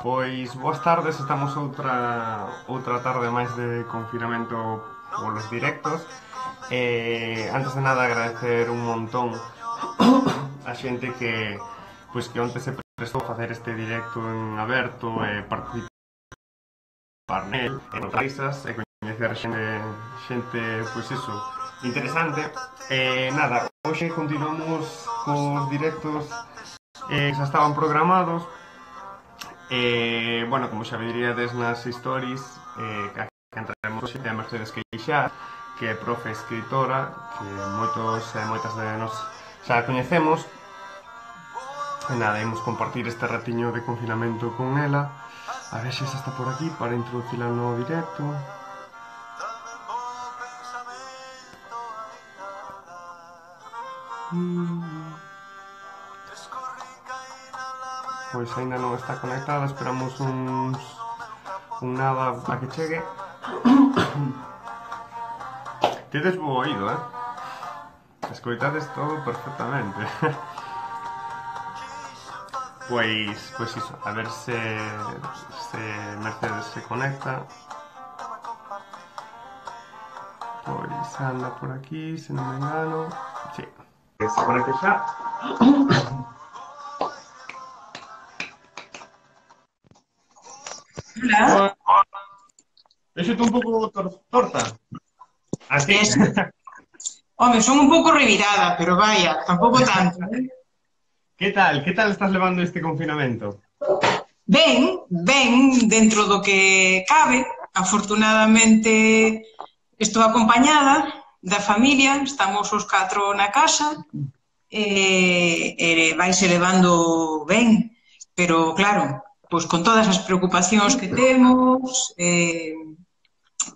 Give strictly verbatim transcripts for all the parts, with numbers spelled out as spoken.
Pois, boas tardes, estamos outra outra tarde máis de confinamento polos directos. Eh, antes de nada agradecer un montón a xente que pois que onte se prestou a facer este directo en aberto e participar nel, e nos risas e coñecer xente, xente, pois iso, interesante. Eh, nada, hoxe continuamos cos directos eh, xa estaban programados. Eh, bueno, como xa veríades nas stories, eh, que entraremos hoxe a Mercedes Queixar, que é profe escritora, que moitos e moitas de nós xa a coñecemos. E nada, imos compartir este ratiño de confinamento con ela. A ver se xa está por aquí para introducila no directo. Pois ainda non está conectada, esperamos uns un nada a que chegue. Tedes bo oído, eh? Escoitades todo perfectamente. Pois, pois iso, a ver se, se Mercedes se conecta. Pois anda por aquí, se non me engano. Sí, que se conecte xa. Hola. Deixo-te un pouco tor torta. Así. Es... Home, son un pouco revirada, pero vaya, tampouco tanto. ¿Eh? Que tal? Que tal estás levando este confinamento? Ben, ben, dentro do que cabe. Afortunadamente estou acompañada da familia, estamos os catro na casa, e, e vaise levando ben, pero claro, pois con todas as preocupacións que temos, eh,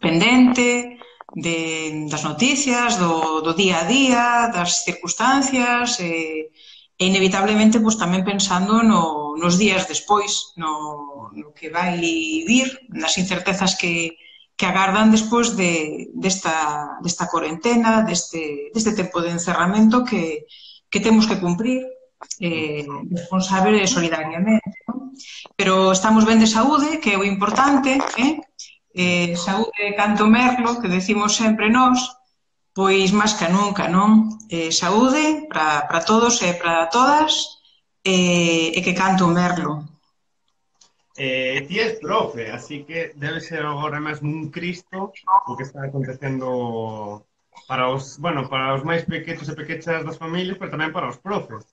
pendente de, das noticias, do, do día a día, das circunstancias, e, e inevitablemente pois, tamén pensando no, nos días despois, no, no que vai vir, nas incertezas que, que agardan despois de, desta, desta cuarentena, deste, deste tempo de encerramento que, que temos que cumprir eh, responsable e solidariamente. ¿No? Pero estamos ben de saúde, que é o importante, eh? Eh, saúde canto merlo, que decimos sempre nós, pois máis que nunca, non? Eh, saúde para todos e para todas, eh, e que canto merlo. Eh, ti és profe, así que debe ser agora mesmo un cristo o que está acontecendo para os, bueno, para os máis pequenos e pequechas das familias, pero tamén para os profes.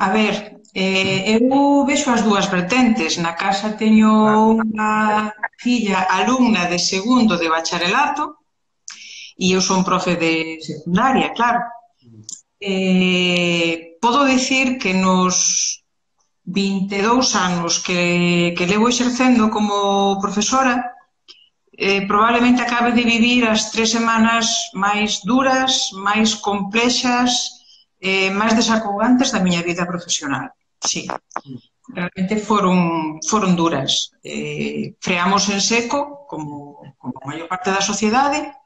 A ver, eh, eu vexo as dúas vertentes. Na casa teño unha filla alumna de segundo de bacharelato e eu son profe de secundaria, claro. Eh, podo dicir que nos vinte e dous anos que, que levo exercendo como profesora, eh, probablemente acabe de vivir as tres semanas máis duras, máis complexas, eh, máis desacougantes da miña vida profesional. Sí, realmente foron, foron duras. Eh, freamos en seco, como, como a maior parte da sociedade,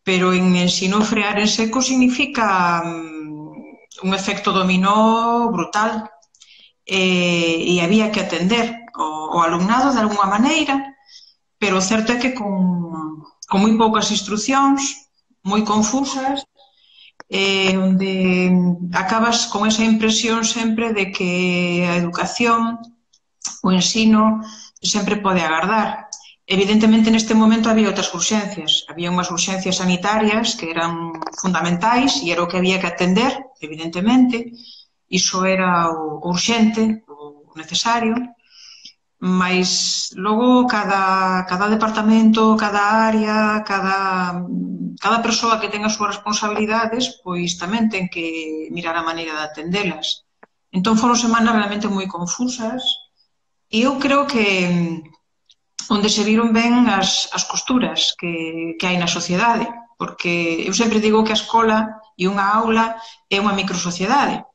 pero en ensino frear en seco significa um, un efecto dominó brutal. Eh, e había que atender o, o alumnado de alguna maneira, pero o certo é que con, con moi poucas instruccións, moi confusas, eh, onde acabas con esa impresión sempre de que a educación, o ensino, sempre pode agardar. Evidentemente, neste momento había outras urxencias. Había unhas urxencias sanitarias que eran fundamentais e era o que había que atender, evidentemente. Iso era o urxente, o necesario, mas logo cada, cada departamento, cada área, cada, cada persoa que ten as súas responsabilidades, pois tamén ten que mirar a maneira de atendelas. Entón foron semanas realmente moi confusas e eu creo que onde se viron ben as, as costuras que, que hai na sociedade, porque eu sempre digo que a escola e unha aula é unha microsociedade.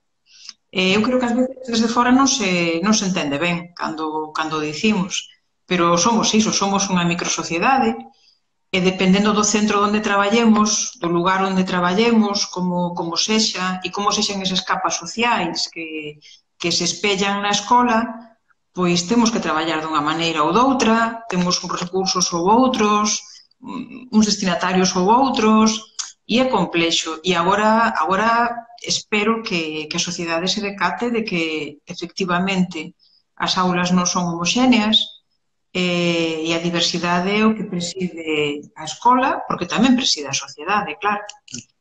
Eu creo que ás veces desde fora non se, non se entende ben cando, cando dicimos, pero somos iso, somos unha microsociedade e dependendo do centro onde traballemos, do lugar onde traballemos, como, como sexa e como sexan esas capas sociais que, que que se espellan na escola, pois temos que traballar dunha maneira ou doutra, temos uns recursos ou outros, uns destinatarios ou outros, e é complexo. E agora, agora espero que, que a sociedade se decate de que, efectivamente, as aulas non son homoxéneas, eh, e a diversidade é o que preside a escola, porque tamén preside a sociedade, claro.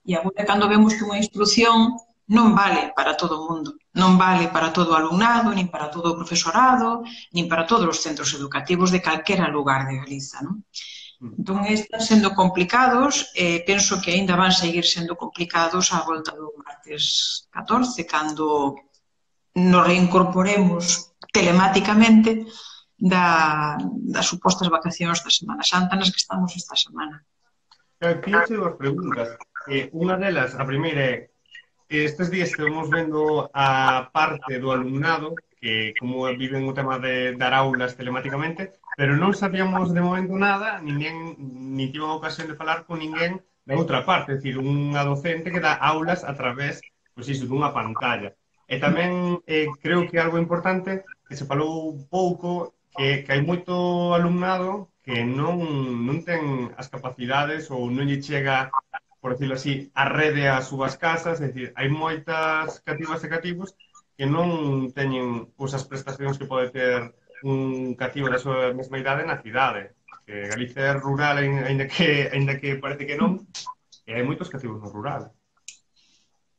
E agora, cando vemos que unha instrucción non vale para todo o mundo, non vale para todo o alumnado, nin para todo o profesorado, nin para todos os centros educativos de calquera lugar de Galiza, non? Entón, están sendo complicados, e penso que aínda van seguir sendo complicados á volta do martes catorce, cando nos reincorporemos telemáticamente da, das supostas vacacións da Semana Santa nas que estamos esta semana. Tiño dúas preguntas. Eh, unha delas, a primeira é, estes días estamos vendo a parte do alumnado que como viven o tema de dar aulas telemáticamente, pero non sabíamos de momento nada, ninguén, ni tive a ocasión de falar con ninguén da outra parte, é dicir, unha docente que dá aulas a través, pois iso, dunha pantalla. E tamén eh, creo que é algo importante que se falou pouco, que, que hai moito alumnado que non, non ten as capacidades ou non lle chega, por decirlo así, a rede ás súas casas, é dicir, hai moitas cativas e cativos que non teñen pois, as prestacións que pode ter un cativo da súa mesma idade na cidade. Que Galicia é rural, ainda que, ainda que parece que non, e hai moitos cativos no rural.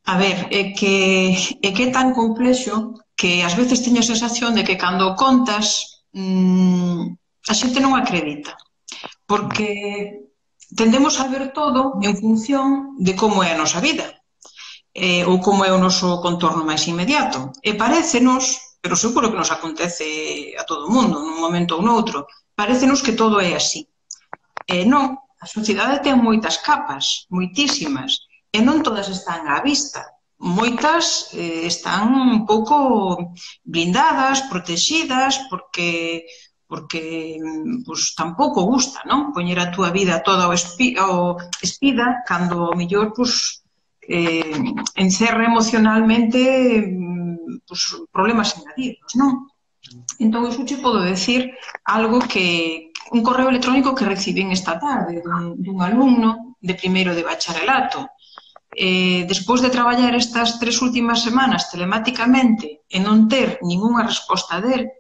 A ver, é que, é que é tan complexo que ás veces teño a sensación de que cando contas mmm, a xente non acredita. Porque tendemos a ver todo en función de como é a nosa vida, eh, ou como é o noso contorno máis inmediato. E parécenos, pero seguro que nos acontece a todo o mundo, nun momento ou noutro, parécenos que todo é así. E non, a sociedade ten moitas capas, moitísimas, e non todas están á vista. Moitas eh, están un pouco blindadas, protegidas, porque... porque pues, tampouco gusta, non? Poñer a túa vida toda o, espi, o espida cando o mellor pues, eh, encerra emocionalmente pues, problemas engadidos, non? Entón, iso che podo decir algo que un correo electrónico que recibín esta tarde dun, dun alumno de primeiro de bacharelato. Eh, despois de traballar estas tres últimas semanas telemáticamente e non ter ningunha resposta del,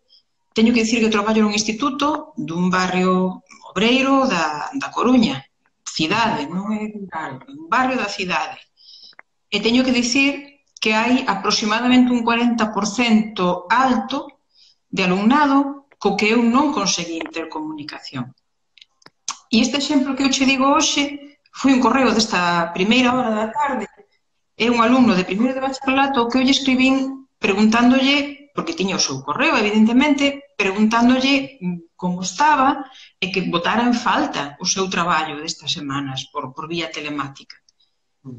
teño que dicir que traballo nun instituto dun barrio obreiro da, da Coruña, cidade, non é rural, un barrio da cidade. E teño que dicir que hai aproximadamente un cuarenta por cento alto de alumnado co que eu non conseguí ter comunicación. E este exemplo que eu che digo hoxe foi un correo desta primeira hora da tarde. É un alumno de primeiro de bacharelato que eu lle escribín preguntándolle, porque tiña o seu correo, evidentemente, preguntándolle como estaba e que botara en falta o seu traballo destas semanas por, por vía telemática.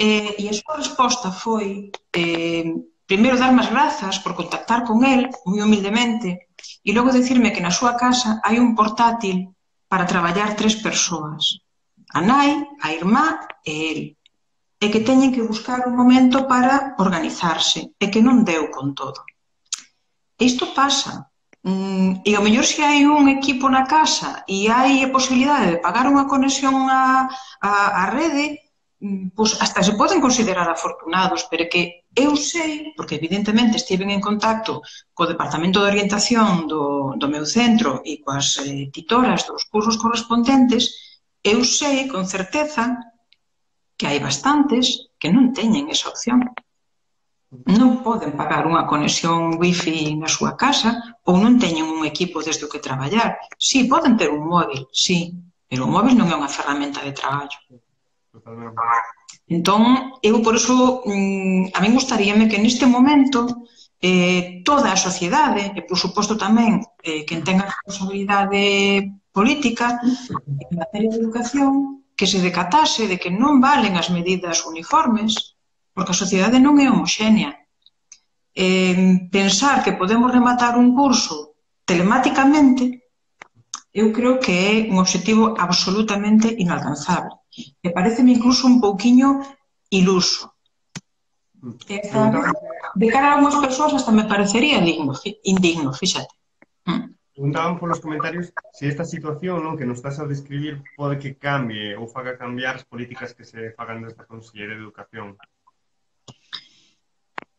E, e a súa resposta foi eh, primeiro darme as grazas por contactar con el, moi humildemente, e logo dicirme que na súa casa hai un portátil para traballar tres persoas, a nai, a irmá e el, e que teñen que buscar un momento para organizarse, e que non deu con todo. Isto pasa. E ao mellor se hai un equipo na casa e hai a posibilidade de pagar unha conexión á, á, á rede, pois hasta se poden considerar afortunados, pero que eu sei, porque evidentemente estiven en contacto co Departamento de Orientación do, do meu centro e coas eh, titoras dos cursos correspondentes, eu sei con certeza que hai bastantes que non teñen esa opción. Non poden pagar unha conexión wifi na súa casa ou non teñen un equipo desde o que traballar. Si, poden ter un móvil, si, pero o móvil non é unha ferramenta de traballo. Entón, eu por iso, a min gustaríame que neste momento eh, toda a sociedade, e por suposto tamén eh, quen tenga responsabilidade política en materia de educación, que se decatase de que non valen as medidas uniformes, porque a sociedade non é homoxénea. Eh, pensar que podemos rematar un curso telemáticamente, eu creo que é un obxectivo absolutamente inalcanzable. E pareceme incluso un pouquiño iluso. Esta de cara a algumas persoas hasta me parecería digno, indigno, fíxate. Preguntaban polos comentarios se esta situación, non, que nos estás a describir pode que cambie ou faga cambiar as políticas que se fagan desde a Consellería de Educación.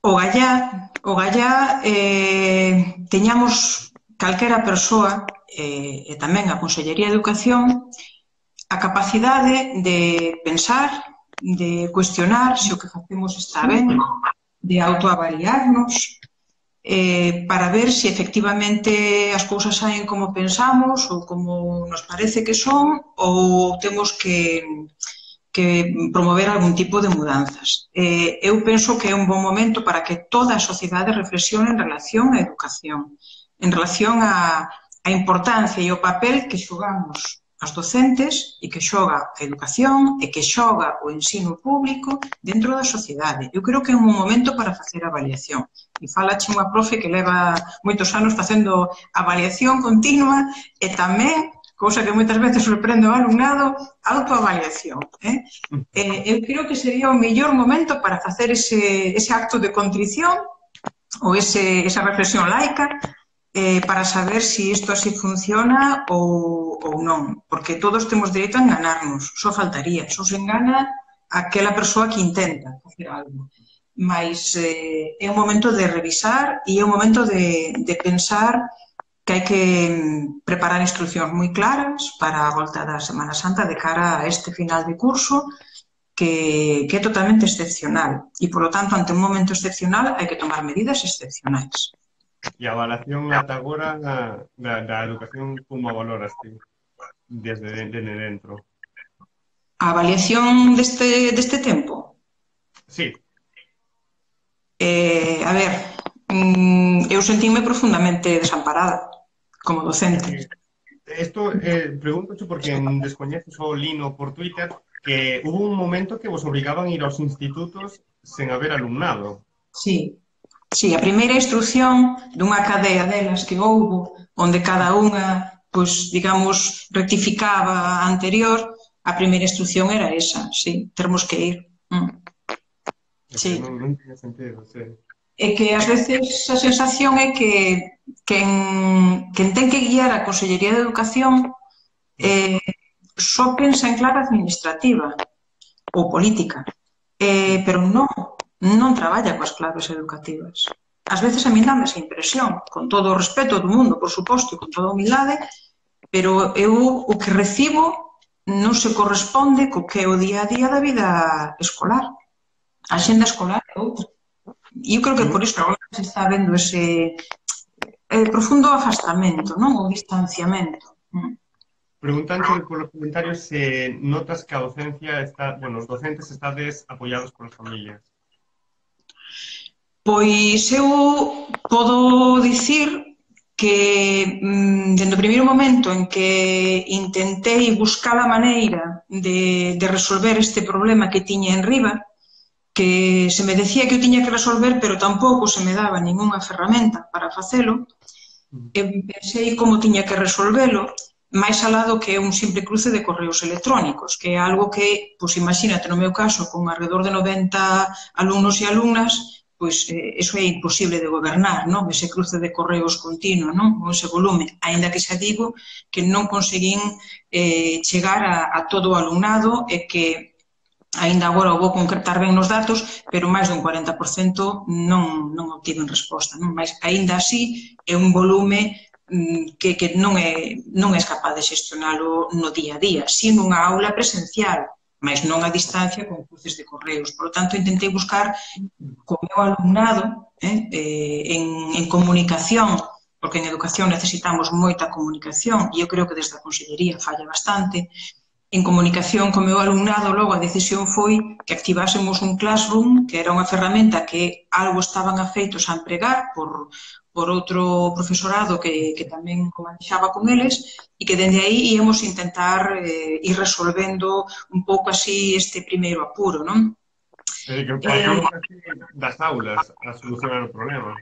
O gallá, o gallá eh, teñamos calquera persoa eh, e tamén a Consellería de Educación a capacidade de pensar, de cuestionar se o que facemos está ben, de autoavaliarnos, eh, para ver se efectivamente as cousas saen como pensamos ou como nos parece que son ou temos que, que promover algún tipo de mudanzas. Eh, eu penso que é un bon momento para que toda a sociedade reflexione en relación á educación, en relación á, á importancia e o papel que xogamos as docentes e que xoga a educación e que xoga o ensino público dentro da sociedade. Eu creo que é un momento para facer avaliación. E falache unha profe que leva moitos anos facendo avaliación continua e tamén, cousa que moitas veces sorprende ao alumnado, autoavaliación. Eh? Eh, eu creo que sería o mellor momento para facer ese, ese acto de contrición ou ese, esa reflexión laica eh, para saber se si isto así funciona ou, ou non, porque todos temos dereito a enganarnos, só faltaría, só se engana aquela persoa que intenta facer algo, mas eh, é un momento de revisar e é un momento de, de pensar que hai que preparar instruccións moi claras para a volta da Semana Santa de cara a este final de curso que, que é totalmente excepcional e, polo tanto, ante un momento excepcional hai que tomar medidas excepcionais. E a avalación ata agora da, da educación, como a valoras ti, desde, desde dentro? A avaliación deste, deste tempo? Sí. Eh, a ver, mm, eu sentíme profundamente desamparada como docente. Isto, eh, pregúntocho porque descoñeces o lino por Twitter que hubo un momento que vos obrigaban a ir aos institutos sen haber alumnado. Sí. Sí, a primeira instrucción dunha cadea delas que houbo, onde cada unha, pois, digamos, rectificaba a anterior, a primeira instrucción era esa, sí, termos que ir. Mm. Sí. Non, non tiña sentido, sí. É que, ás veces, a sensación é que quen, quen ten que guiar a Consellería de Educación eh, só pensa en clave administrativa ou política, eh, pero non. non traballa coas claves educativas. Ás veces a mí dame esa impresión, con todo o respeto do mundo, por suposto, e con toda a humildade, pero eu o que recibo non se corresponde co que é o día a día da vida escolar. A xenda escolar é outra. E eu creo que por iso agora se está vendo ese eh, profundo afastamento, non? O distanciamento. Preguntanche polos comentarios se notas que a docencia está, bueno, os docentes estades apoiados polas familias. Pois eu podo dicir que dende o primeiro momento en que intentei buscar a maneira de, de resolver este problema que tiña en riba, que se me decía que eu tiña que resolver, pero tampouco se me daba ningunha ferramenta para facelo, eu pensei como tiña que resolvelo, máis alá do que é un simple cruce de correos electrónicos, que é algo que, pois imagínate, no meu caso, con alrededor de noventa alumnos e alumnas, pois eh, eso é imposible de gobernar, non? Ese cruce de correos continuo, non? Ese volume, aínda que xa digo que non conseguín eh, chegar a, a todo o alumnado e que aínda agora o vou concretar ben nos datos, pero máis dun cuarenta por cento non, non obtiven resposta, non? Mas aínda así é un volume que, que non é, non é capaz de xestionalo no día a día, si nunha aula presencial, mas non a distancia con cruces de correos. Por lo tanto, intentei buscar co meu alumnado eh, en, en comunicación, porque en educación necesitamos moita comunicación, e eu creo que desde a Consellería falla bastante. En comunicación co meu alumnado, logo a decisión foi que activásemos un Classroom, que era unha ferramenta que algo estaban afeitos a empregar por, por outro profesorado que, que tamén manexaba con eles, e que dende aí íamos intentar eh, ir resolvendo un pouco así este primeiro apuro, non? É que pasamos eh, das aulas a solucionar o problema.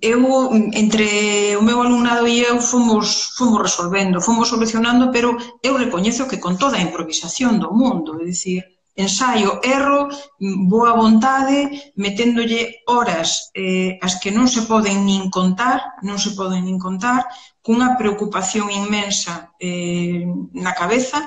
Eu, entre o meu alumnado e eu, fomos, fomos resolvendo, fomos solucionando, pero eu recoñezo que con toda a improvisación do mundo, é dicir, ensaio, erro, boa vontade, meténdolle horas eh, as que non se poden nin contar, non se poden nin contar, cunha preocupación inmensa eh, na cabeza.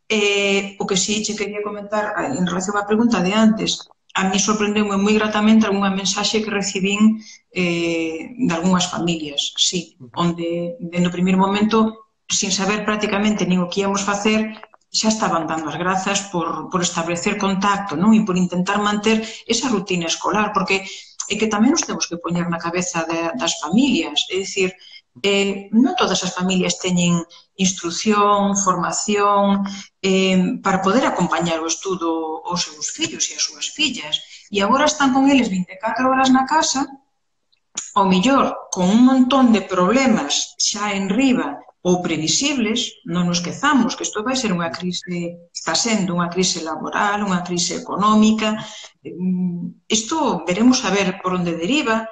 Eh, o que sí che quería comentar en relación á pregunta de antes, a mí sorprendeu-me moi gratamente algunha mensaxe que recibín eh, de algunhas familias, sí, onde, no primeiro momento, sin saber prácticamente nin o que íamos facer, xa estaban dando as grazas por, por establecer contacto, non? E por intentar manter esa rutina escolar, porque é que tamén nos temos que poñer na cabeza de, das familias, é dicir, eh, non todas as familias teñen instrucción, formación, eh, para poder acompañar o estudo aos seus fillos e as súas fillas. E agora están con eles vinte e catro horas na casa, ao mellor con un montón de problemas xa en riba ou previsibles, non nos esquezamos que isto vai ser unha crise, está sendo unha crise laboral, unha crise económica, isto veremos a ver por onde deriva,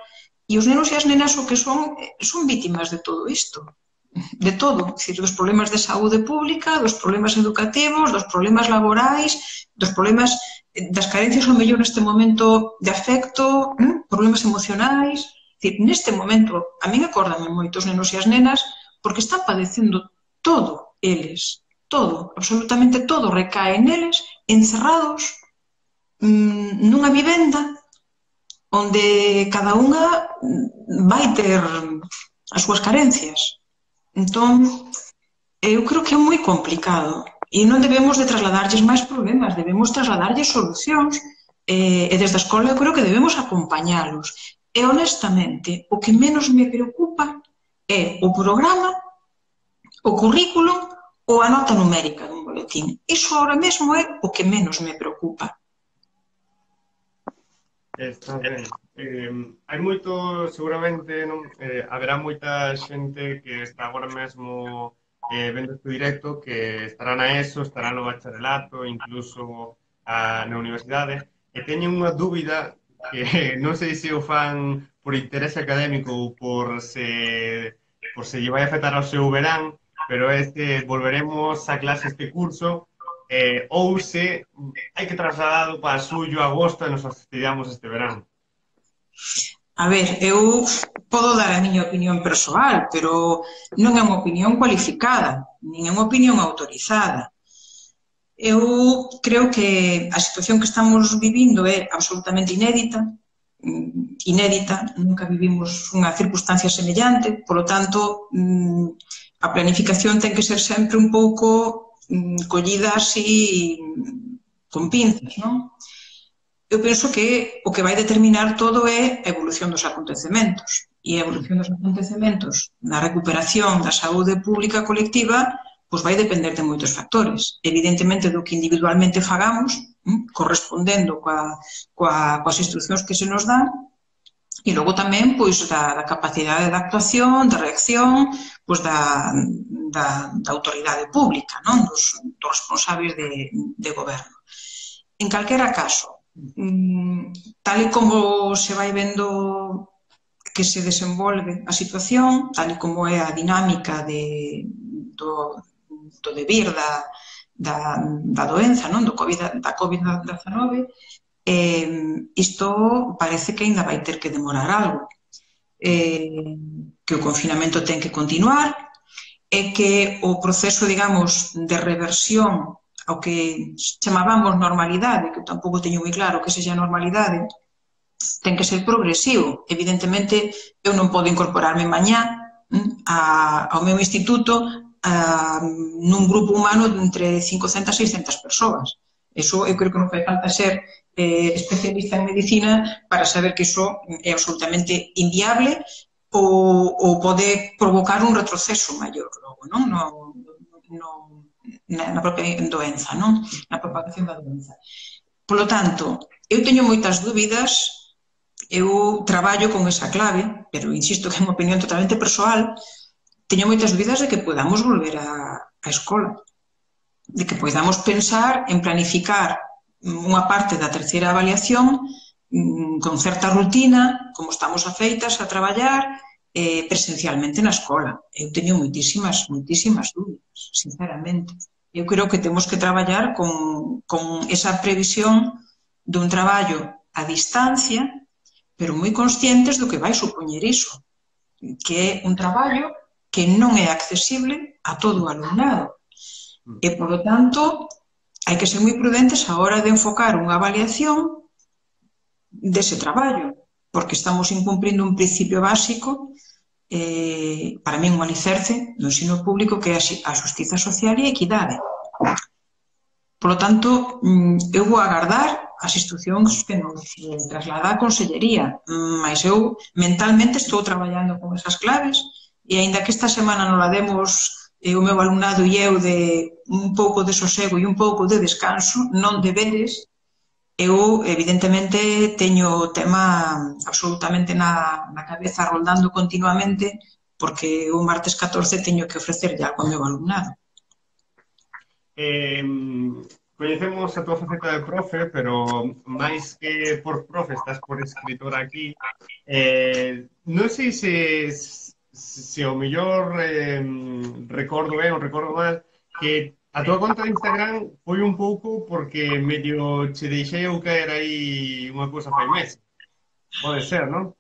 e os nenos e as nenas o que son, son vítimas de todo isto, de todo, decir, dos problemas de saúde pública, dos problemas educativos, dos problemas laborais, dos problemas das carencias ao mellor neste momento de afecto, problemas emocionais, decir, neste momento, a min acórdame moitos nenos e as nenas porque están padecendo todo eles, todo, absolutamente todo recae neles, encerrados nunha vivenda onde cada unha vai ter as súas carencias. Entón, eu creo que é moi complicado e non debemos de trasladarlles máis problemas, debemos trasladarlles solucións e desde a escola eu creo que debemos acompañalos. E honestamente, o que menos me preocupa é o programa, o currículo ou a nota numérica dun boletín. Iso ahora mesmo é o que menos me preocupa. Está ben. Eh, hai moito, seguramente, non, eh, haberá moita xente que está agora mesmo eh, vendo este directo que estará na ESO, estará no bacharelato, incluso a, na universidade, e teñen unha dúbida que non sei se o fan por interese académico ou por se, por se lle vai afectar ao seu verán, pero é que volveremos a clase este curso Eh, ou se hai que trasladado para xullo, agosto e nos fastidiamos este verán. A ver, eu podo dar a miña opinión persoal, pero non é unha opinión cualificada, nin é unha opinión autorizada. Eu creo que a situación que estamos vivindo é absolutamente inédita, inédita, nunca vivimos unha circunstancia semellante, polo tanto, a planificación ten que ser sempre un pouco collida así con pinzas, non? Eu penso que o que vai determinar todo é a evolución dos acontecementos. E a evolución dos acontecementos na recuperación da saúde pública colectiva pois vai depender de moitos factores. Evidentemente do que individualmente fagamos, correspondendo coa, coa, coas instruccións que se nos dan, e logo tamén pois da, da capacidade de actuación, de reacción, pois da, da, da autoridade pública, non? Dos, dos responsables de, de goberno. En calquera caso, tal e como se vai vendo que se desenvolve a situación, tal e como é a dinámica de, do, do debir da, da, da doenza, non? Do COVID, da COVID dezenove, Eh, isto parece que ainda vai ter que demorar algo, eh, que o confinamento ten que continuar e que o proceso, digamos, de reversión ao que chamábamos normalidade, que eu tampouco teño moi claro que sexa normalidade, ten que ser progresivo. Evidentemente, eu non podo incorporarme mañá a, ao meu instituto a, nun grupo humano de entre cincocentas e seiscentas persoas. Eso eu creo que non fai falta ser eh, especialista en medicina para saber que iso é absolutamente inviable ou, ou pode provocar un retroceso maior logo, non? No, no, na, na propia doenza, non? Na propagación da doenza. Por lo tanto, eu teño moitas dúbidas, eu traballo con esa clave, pero insisto que é unha opinión totalmente persoal, teño moitas dúbidas de que podamos volver a, a escola, de que podamos pensar en planificar unha parte da terceira avaliación con certa rutina, como estamos afeitas a traballar presencialmente na escola. Eu teño moitísimas, moitísimas dúbidas, sinceramente. eu creo que temos que traballar con, con esa previsión dun traballo a distancia, pero moi conscientes do que vai supoñer iso, que é un traballo que non é accesible a todo o alumnado. E, por lo tanto, hai que ser moi prudentes a hora de enfocar unha avaliación dese traballo, porque estamos incumplindo un principio básico, eh, para mí un alicerce do ensino público, que é a xustiza social e a equidade. Por lo tanto, eu vou agardar as instruccións que nos traslada a Consellería, mas eu mentalmente estou traballando con esas claves e, aínda que esta semana non la demos o meu alumnado e eu de un pouco de sosego e un pouco de descanso, non deberes, eu evidentemente teño o tema absolutamente na, na cabeza, rondando continuamente, porque o martes catorce teño que ofrecerlle algo ao meu alumnado. Eh, coñecemos a túa faceta de profe, pero máis que por profe, estás por escritora aquí. Eh, non sei se, se o mellor eh, recordo ben ou recordo mal, que a túa conta de Instagram foi un pouco porque medio che deixei eu caer aí unha cousa fai meses. Pode ser, non?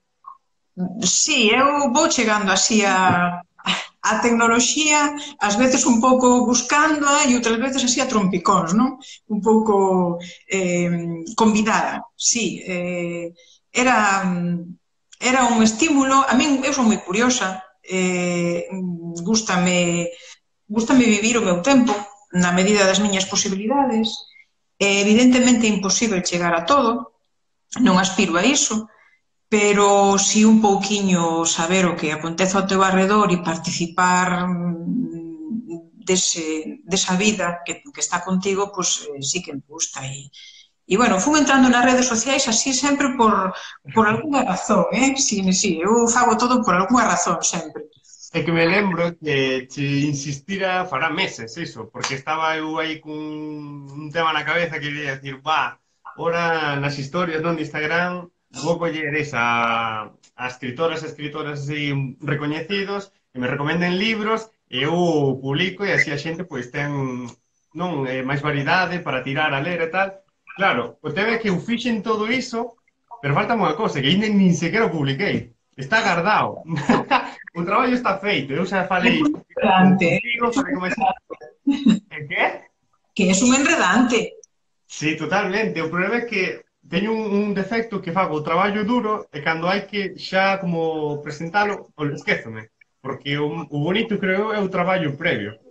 Sí, eu vou chegando así a... a tecnoloxía, ás veces un pouco buscándoa e outras veces así a trompicóns, non? Un pouco eh, convidada, sí. Eh, era, era un estímulo, a min, eu son moi curiosa, eh, gústame, gústame vivir o meu tempo na medida das miñas posibilidades. Eh, evidentemente é imposible chegar a todo, non aspiro a iso, pero si un pouquiño saber o que acontece ao teu arredor e participar dese, desa vida que, que está contigo, pois pues, sí que me gusta. E, e bueno, fui entrando nas redes sociais así sempre por, por alguna razón, eh? Sí, sí, eu fago todo por alguna razón sempre. É que me lembro que te insistira fará meses, iso, porque estaba eu aí con un tema na cabeza que quería decir, va, ora nas historias non de Instagram vou coller esa a escritoras e escritoras así recoñecidos que me recomenden libros e eu publico e así a xente pois ten non eh, máis variedade para tirar a ler e tal. Claro, o tema é que eu fixen todo iso, pero falta unha cosa, que ainda nin sequera o publiquei. Está guardado. O traballo está feito. Eu xa falei contigo, falei como é. E que? Que é un enredante. Sí, totalmente. O problema é que teño un, un defecto que fago o traballo duro e cando hai que xa como presentalo, esquézome, porque o, o bonito creo é o traballo previo.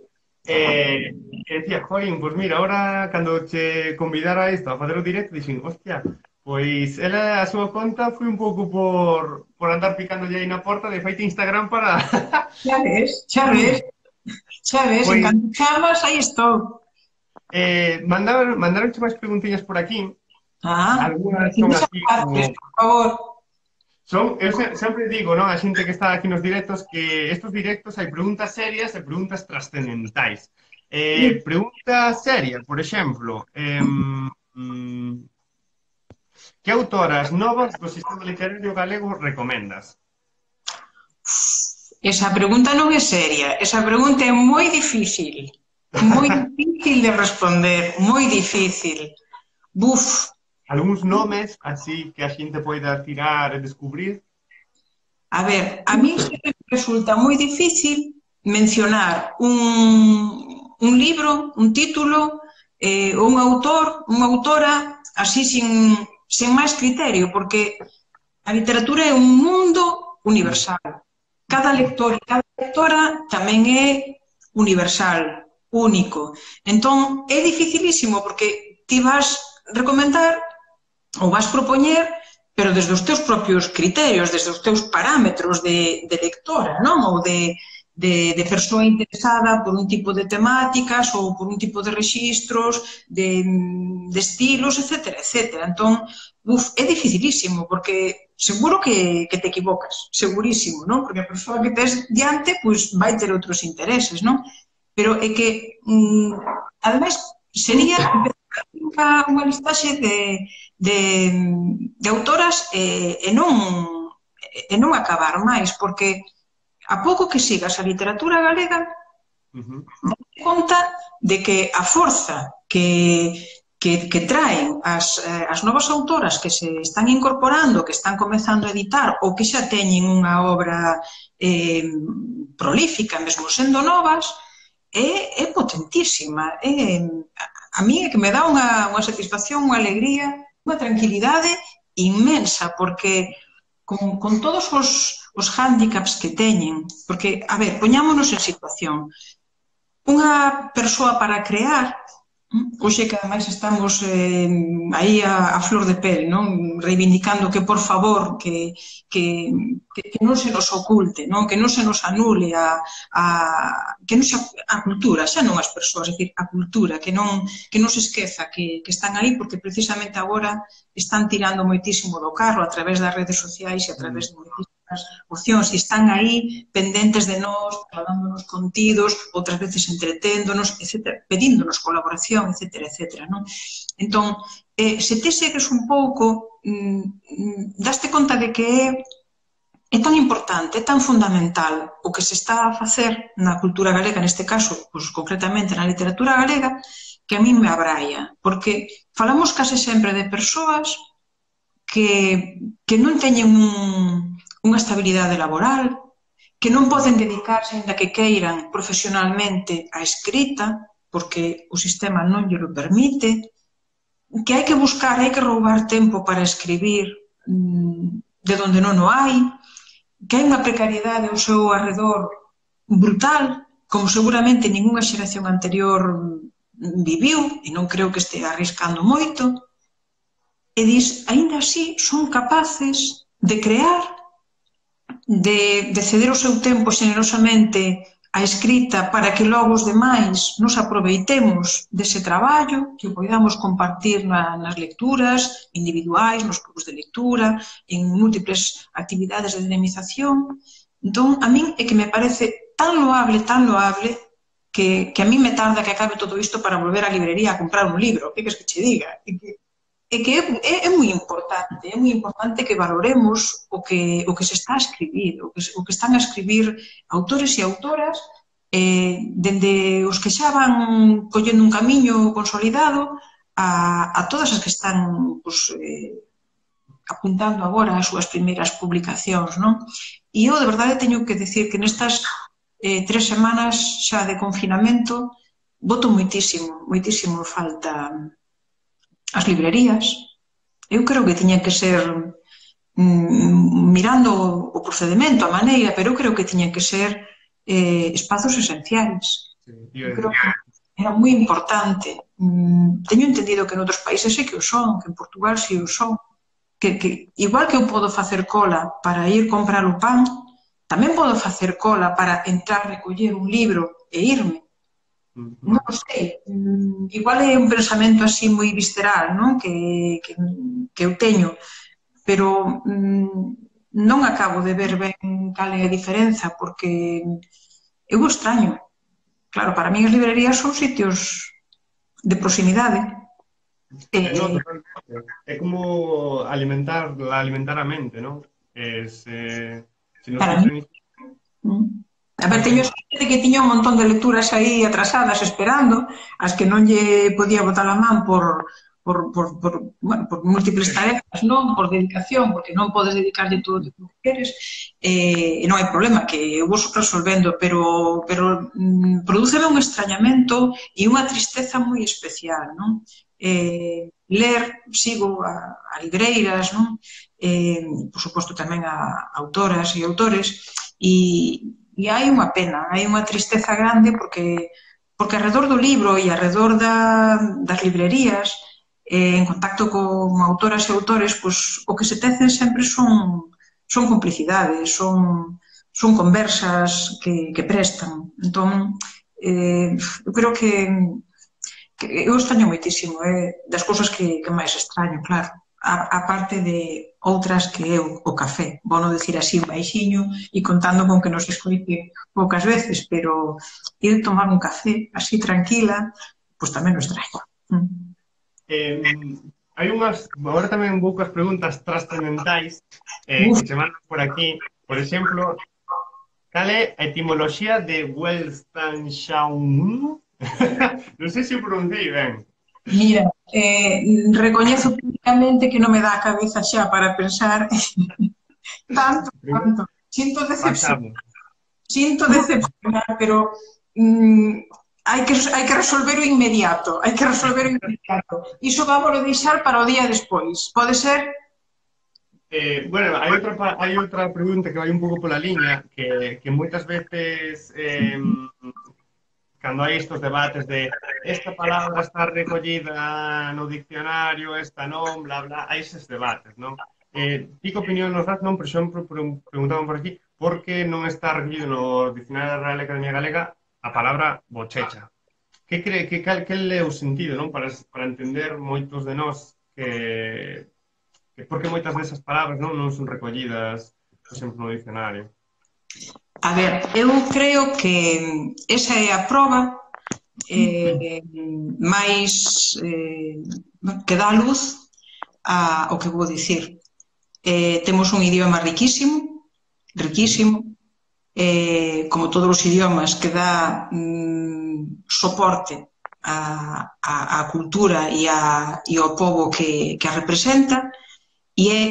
E, e decía, join, pois mira, ahora cando che convidara a isto a facer o directo, dixen, hostia, pois ela a súa conta foi un pouco por, por andar picándolle aí na porta de feite Instagram para... Xa ves, xa ves, xa ves, pois, en canto chamas, aí estou. Eh, mandaron, mandaron máis preguntiñas por aquí. Ah, algunas son así como... por favor. Son, eu se, sempre digo, non, a xente que está aquí nos directos, que estos directos hai preguntas serias e preguntas trascendentais. Eh, pregunta seria, por exemplo, eh, mm, que autoras novas do sistema literario galego recomendas? Esa pregunta non é seria, esa pregunta é moi difícil, moi difícil de responder, moi difícil. Buf, algúns nomes así que a xente poida tirar e descubrir? A ver, a mí sempre resulta moi difícil mencionar un, un libro, un título, eh, un autor, unha autora, así sin, sin máis criterio, porque a literatura é un mundo universal. Cada lector e cada lectora tamén é universal, único. Entón, é dificilísimo, porque ti vas recomendar ou vas propoñer, pero desde os teus propios criterios, desde os teus parámetros de, de lectora, non? Ou de, de, de persoa interesada por un tipo de temáticas ou por un tipo de rexistros, de, de estilos, etcétera, etcétera. Entón, uf, é dificilísimo, porque seguro que, que te equivocas, segurísimo, non? Porque a persoa que tes diante, pois, vai ter outros intereses, non? Pero é que, mm, ademais, sería unha listaxe de, de, de autoras e, e, non, e non acabar máis, porque a pouco que sigas a literatura galega, Uh-huh. Date conta de que a forza que, que, que traen as, as novas autoras que se están incorporando, que están comezando a editar ou que xa teñen unha obra eh, prolífica, mesmo sendo novas, é, é potentísima. É, a mí é que me dá unha, unha satisfacción, unha alegría, unha tranquilidade inmensa, porque con, con todos os, os hándicaps que teñen, porque, a ver, poñámonos en situación. Unha persoa para crear, hoxe que ademais estamos eh, aí a, a flor de pel, non? Reivindicando que, por favor, que, que, que, que non se nos oculte, non? Que non se nos anule a, a, que non se, a cultura, xa non as persoas, é dicir, a cultura, que non, que non se esqueza que, que están aí, porque precisamente agora están tirando moitísimo do carro a través das redes sociais e a través de moitísimas opcións, e están aí pendentes de nós, dándonos contidos, outras veces entreténdonos, etcétera, pedíndonos colaboración, etcétera, etcétera, non? Entón, eh, se te segues un pouco, mm, daste conta de que é, é tan importante, é tan fundamental o que se está a facer na cultura galega, neste caso, pues, concretamente na literatura galega, que a min me abraia, porque falamos case sempre de persoas que, que non teñen un unha estabilidade laboral, que non poden dedicarse, ainda que queiran, profesionalmente á escrita, porque o sistema non lle lo permite, que hai que buscar, hai que roubar tempo para escribir de donde non o hai, que hai unha precariedade ao seu arredor brutal, como seguramente ningunha xeración anterior viviu, e non creo que este arriscando moito, e dis, aínda así, son capaces de crear, De, de ceder o seu tempo xenerosamente á escrita para que logo os demais nos aproveitemos dese traballo, que o podamos compartir na, nas lecturas individuais, nos grupos de lectura, en múltiples actividades de dinamización. Entón, a min é que me parece tan loable, tan loable, que, que a min me tarda que acabe todo isto para volver á librería a comprar un libro. Que queres que che diga? É que É que é, é moi importante, é moi importante que valoremos o que, o que se está a escribir, o que, o que están a escribir autores e autoras, eh, dende os que xa van collendo un camiño consolidado a, a todas as que están pues, eh, apuntando agora as súas primeiras publicacións, non? E eu, de verdade, teño que decir que nestas eh, tres semanas xa de confinamento boto moitísimo, moitísimo falta as librerías. Eu creo que tiña que ser mm, mirando o procedimento, a maneira, pero eu creo que tiña que ser eh, espazos esenciais. Eu creo que era moi importante. Mm, teño entendido que en outros países sí que o son, que en Portugal sí o son. Que, que igual que eu podo facer cola para ir comprar o pan, tamén podo facer cola para entrar, recoller un libro e irme. Non sei, igual é un pensamento así moi visceral, non? Que, que, que eu teño, pero mm, non acabo de ver ben cal é a diferenza, porque eu o extraño. Claro, para mí as librerías son sitios de proximidade. Eh, no, é como alimentar, alimentar a mente, non? Es, eh, si non para mí. Mm. A ver, teño xente que tiña un montón de lecturas aí atrasadas esperando, as que non lle podía botar a man por, por, por, por, bueno, por múltiples tarefas, non? Por dedicación, porque non podes dedicarlle todo o que queres, e non hai problema, que eu vou resolvendo, pero, pero mm, prodúceme un extrañamento e unha tristeza moi especial, non? Eh, ler, sigo a, a libreiras, non? Eh, por suposto tamén a autoras e autores, e E hai unha pena, hai unha tristeza grande porque, porque alrededor do libro e alrededor da, das librerías, eh, en contacto con autoras e autores, pues, o que se tecen sempre son, son complicidades, son, son conversas que, que prestan. Entón, eh, eu creo que, que eu extraño moitísimo, eh, das cousas que, que máis extraño, claro. A, a parte de outras que eu, o café, vou non dicir así baixiño e contando con que nos escoite poucas veces, pero ir tomar un café así tranquila, pois tamén o extraño. Mm. Eh, hai unhas, agora tamén poucas preguntas trascendentais eh, que se mandan por aquí, por exemplo, cal é a etimoloxía de Weltanschauung? Non sei se o pronunciei ben. Mira, eh, recoñezo públicamente que non me dá a cabeza xa para pensar tanto, tanto. Sinto decepción, Pasamos. sinto decepcionar, pero mm, hai que, hai que resolver o inmediato, hai que resolver o inmediato. Iso vamos a deixar para o día despois. Pode ser? Eh, bueno, hai outra, pa- hai outra pregunta que vai un pouco pola liña, que, que moitas veces eh, cando hai estes debates de esta palabra está recollida no diccionario, esta non, bla, bla, hai eses debates, non? Eh, ti que opinión nos das, non? Por exemplo, pre- preguntaban por aquí, por que non está recollido no diccionario da Real Academia Galega a palabra bochecha? Que cree que cal que é o sentido, non? Para, para entender moitos de nós que, que por que moitas desas palabras non, non son recollidas, por exemplo, no diccionario. A ver, eu creo que esa é a proba eh, máis eh, que dá luz a, o que vou dicir. Eh, temos un idioma riquísimo, riquísimo, eh, como todos os idiomas, que dá mm, soporte á, á, á cultura e, a, e ao povo que, que a representa, e é,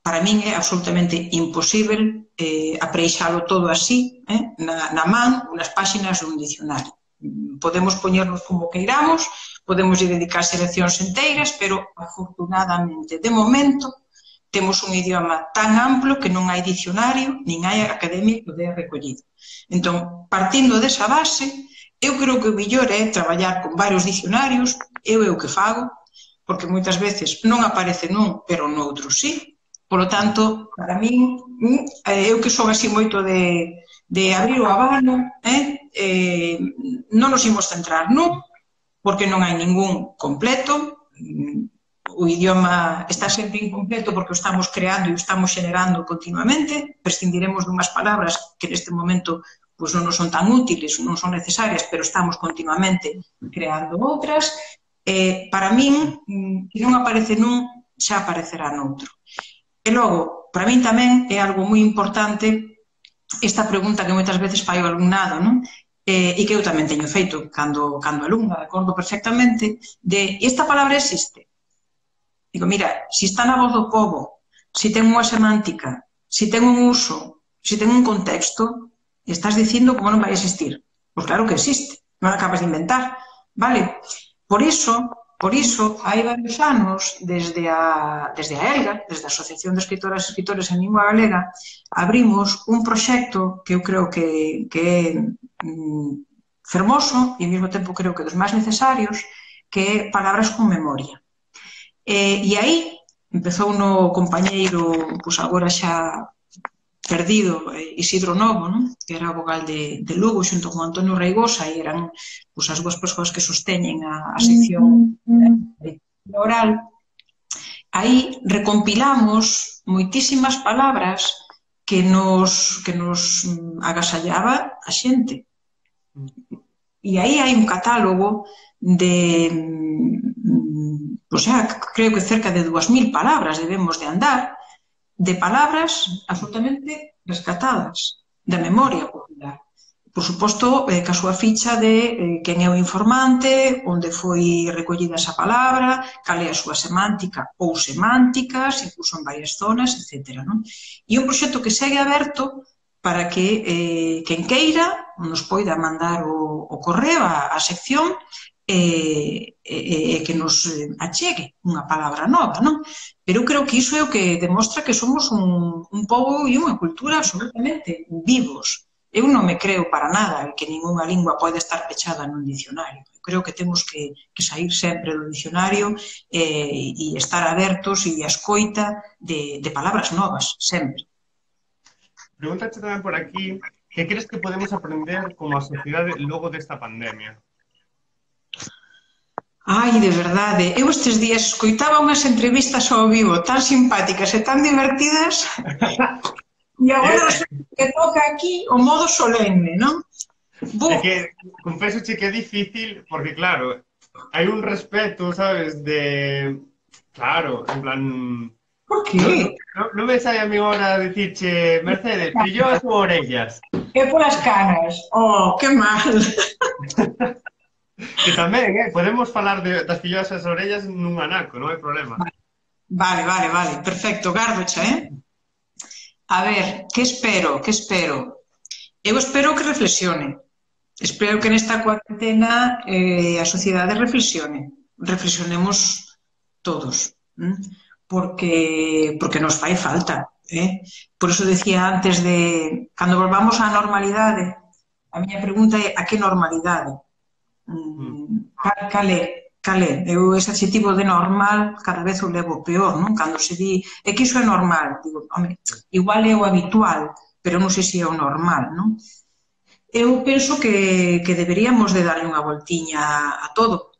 para min é absolutamente imposible eh, apreixalo todo así, eh, na, na man, nas páxinas dun dicionario. Podemos poñernos como queiramos, podemos dedicar seleccións enteiras, pero afortunadamente, de momento, temos un idioma tan amplo que non hai dicionario, nin hai academia que o dea recollido. Entón, partindo desa base, eu creo que o mellor é traballar con varios dicionarios, eu é o que fago, porque moitas veces non aparece nun, pero noutro sí. Por lo tanto, para min, eu que son así moito de, de abrir o abano, eh, eh, non nos imos centrar nun, porque non hai ningún completo, o idioma está sempre incompleto porque o estamos creando e o estamos generando continuamente, prescindiremos dunhas palabras que neste momento pois, non nos son tan útiles, non son necesarias, pero estamos continuamente creando outras. Eh, para min, que non aparece nun, xa aparecerá noutro. E logo, para min tamén é algo moi importante esta pregunta que moitas veces fai o alumnado, non? Eh, e que eu tamén teño feito cando, cando alumna, acordo perfectamente, de esta palabra existe. Digo, mira, se está na voz do povo, se ten unha semántica, se ten un uso, se ten un contexto, estás dicindo como non vai existir. Pois claro que existe, non acabas de inventar, vale? Por iso, por iso, hai varios anos, desde a, desde a ELGA, desde a Asociación de Escritoras e Escritores en Lingua Galega, abrimos un proxecto que eu creo que, que é mm, fermoso e ao mesmo tempo creo que dos máis necesarios, que é Palabras con Memoria. E, e aí empezou no compañeiro, pois agora xa perdido, Isidro Novo, non? Que era a vogal de, de Lugo, xunto con Antonio Reigosa, e eran pois, as dúas persoas que sosteñen a, a sección de oral. Aí recompilamos moitísimas palabras que nos, que nos agasallaba a xente. E aí hai un catálogo de, o sea, creo que cerca de dúas mil palabras debemos de andar, de palabras absolutamente rescatadas da memoria popular. Por suposto, eh, ca súa ficha de eh, quen é o informante, onde foi recollida esa palabra, cal é a súa semántica ou semánticas, incluso en varias zonas, etcétera. Non? E un proxecto que segue aberto para que eh, quen queira nos poida mandar o, o correo á, á sección e, e, e que nos achegue unha palabra nova, non? Pero eu creo que iso é o que demostra que somos un, un pobo e unha cultura absolutamente vivos. Eu non me creo para nada que ninguna lingua pode estar pechada nun dicionario. Eu creo que temos que, que sair sempre do dicionario eh, e estar abertos e a escoita de, de palabras novas, sempre. Pregúntate tamén por aquí, que crees que podemos aprender como a sociedade logo desta pandemia? Ai, de verdade, eu estes días escoitaba unhas entrevistas ao vivo tan simpáticas e tan divertidas e agora que toca aquí o modo solemne, non? É que, confeso che que é difícil, porque claro, hai un respeto, sabes, de... Claro, en plan... Por que? Non no, no me sai a mi hora decirche, Mercedes, brillo as orellas. É polas caras. Oh, que mal. Que tamén, eh? Podemos falar de, das filloas e as orellas nun anaco, non hai problema. Vale, vale, vale. Perfecto. Gardocha, eh? A ver, que espero? Que espero? Eu espero que reflexione. Espero que nesta cuarentena eh, a sociedade reflexione. Reflexionemos todos. ¿m? Porque, porque nos fai falta. Eh? Por eso decía antes de... Cando volvamos á normalidade, a miña pregunta é a que normalidade? Mm, cal, cal é? Cal é? Eu ese adxetivo de normal cada vez o levo peor, non? Cando se di, é que iso é normal, digo, home, igual é o habitual, pero non sei se é o normal, non? Eu penso que, que deberíamos de darle unha voltiña a todo,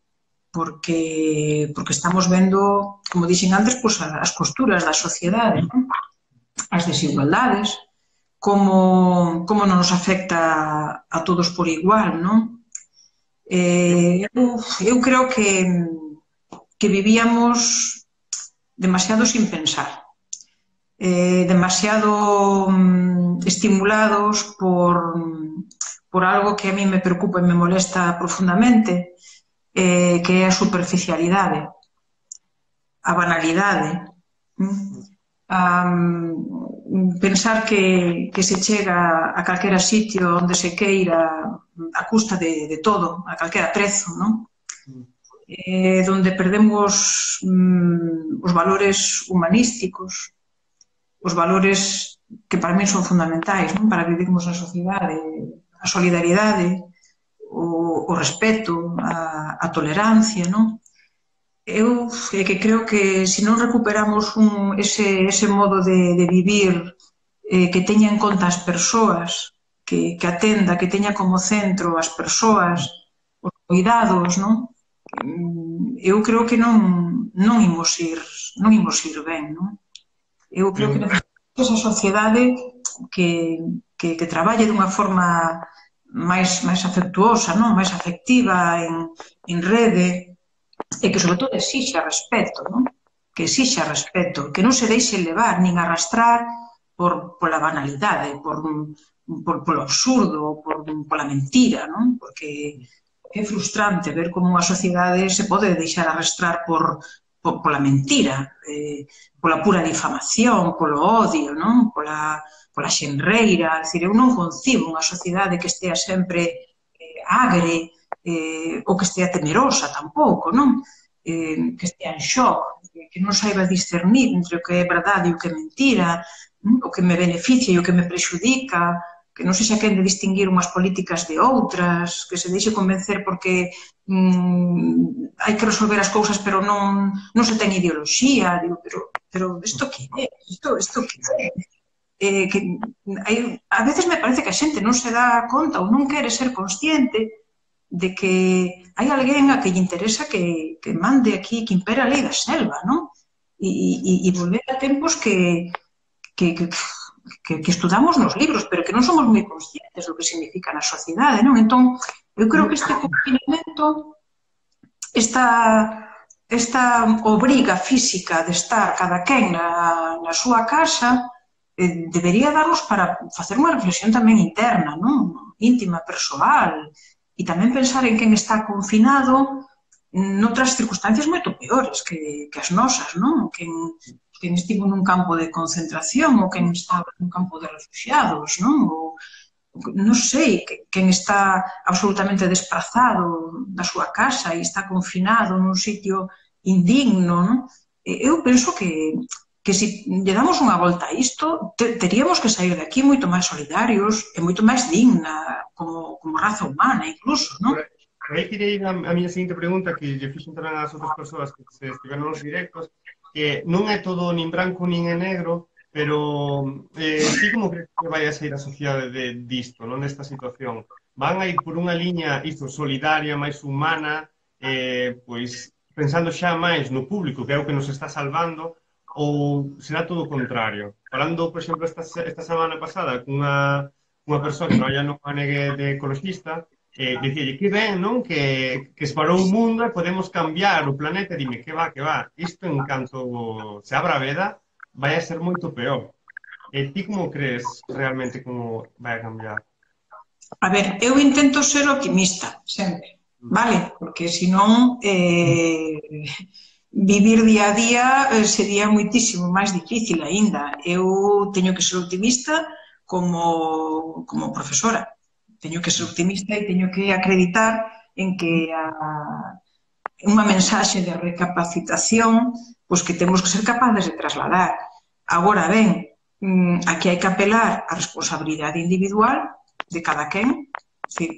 porque, porque estamos vendo, como dixen antes, pues, as costuras da sociedade, non? As desigualdades, como, como non nos afecta a todos por igual, non? Eh, eu, eu creo que, que vivíamos demasiado sin pensar, eh, demasiado mm, estimulados por, por algo que a mí me preocupa e me molesta profundamente, eh, que é a superficialidade, a banalidade. Mm? Um, pensar que, que se chega a calquera sitio onde se queira a custa de, de todo, a calquera prezo, non? Eh, donde perdemos mm, os valores humanísticos, os valores que para mí son fundamentais, non? Para vivirmos na sociedade, a solidariedade, o, o respeto, a, a tolerancia, non? Eu é que creo que se non recuperamos un, ese, ese modo de, de vivir eh, que teña en conta as persoas, que, que atenda, que teña como centro as persoas, os cuidados, non? Eu creo que non, non imos ir, non imos ir ben, non? Eu creo que necesitamos esa sociedade que, que, que traballe dunha forma máis, máis afectuosa, non? Máis afectiva, en, en rede, e que, sobre todo, exixa respeto, non? Que exixa respeto, que non se deixe levar nin arrastrar por, pola banalidade, por, por, polo absurdo, por, pola mentira, non? Porque é frustrante ver como unha sociedade se pode deixar arrastrar por, por, pola mentira, eh, pola pura difamación, polo odio, non? Pola, pola xenreira. Dicir, eu non concibo unha sociedade que estea sempre eh, agre, eh, ou que estea temerosa tampouco, non? Eh, que estea en shock, que non saiba discernir entre o que é verdade e o que é mentira, non? O que me beneficia e o que me prexudica, que non sei se quen de distinguir unhas políticas de outras, que se deixe convencer porque mm, hai que resolver as cousas pero non, non se ten ideoloxía, digo, pero, pero isto que é? Isto, isto que é? Eh, que hai, a veces me parece que a xente non se dá conta ou non quere ser consciente de que hai alguén a que lle interesa que, que mande aquí, que impera a lei da selva, non? E, e, e volver a tempos que, que, que, que, que estudamos nos libros, pero que non somos moi conscientes do que significa na sociedade, non? Entón, eu creo que este confinamento, esta, esta obriga física de estar cada quen na, na súa casa, eh, debería darnos para facer unha reflexión tamén interna, non? Íntima, persoal, e tamén pensar en quen está confinado noutras circunstancias moito peores que, que as nosas, non? Quen, quen estivo nun campo de concentración ou quen estaba nun campo de refugiados, non? Ou, non sei, quen está absolutamente desprazado da súa casa e está confinado nun sitio indigno, non? Eu penso que que se lle damos unha volta a isto, te, teríamos que sair de aquí moito máis solidarios e moito máis digna como, como raza humana, incluso, non? Aí queria ir a, a miña seguinte pregunta, que lle fixen tamén ás outras persoas que se estiveron nos directos, que non é todo nin branco nin é negro, pero eh, ti como crees que vai a sair a sociedade de, disto, non desta situación? Van a ir por unha liña isto, solidaria, máis humana, eh, pois pensando xa máis no público, que é o que nos está salvando, ou será todo o contrario? Falando, por exemplo, esta, esta semana pasada cunha unha persoa que traballa nunha negue de ecologista, eh, dicíalle que ben, non? Que, que esparou o mundo e podemos cambiar o planeta, e dime, que va, que va, isto en canto se abra a veda vai a ser moito peor. E ti como crees realmente como vai a cambiar? A ver, eu intento ser optimista, sempre, vale? Porque senón eh, vivir día a día eh, sería moitísimo máis difícil aínda. Eu teño que ser optimista como, como profesora. Teño que ser optimista e teño que acreditar en que a, unha mensaxe de recapacitación pois que temos que ser capaces de trasladar. Agora ben, aquí hai que apelar á responsabilidade individual de cada quen.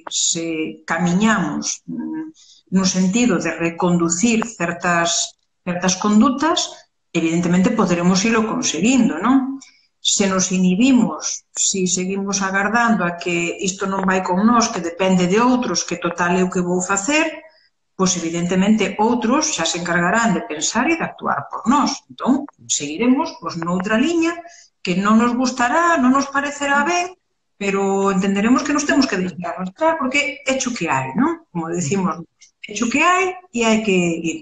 Se camiñamos no sentido de reconducir certas, certas condutas, evidentemente poderemos ilo conseguindo, non? Se nos inhibimos, se seguimos agardando a que isto non vai con nós, que depende de outros, que total é o que vou facer, pois evidentemente outros xa se encargarán de pensar e de actuar por nós. Entón, seguiremos pois, noutra liña que non nos gustará, non nos parecerá ben, pero entenderemos que nos temos que deixar arrastrar porque é hecho que hai, non? Como decimos, é hecho que hai e hai que ir.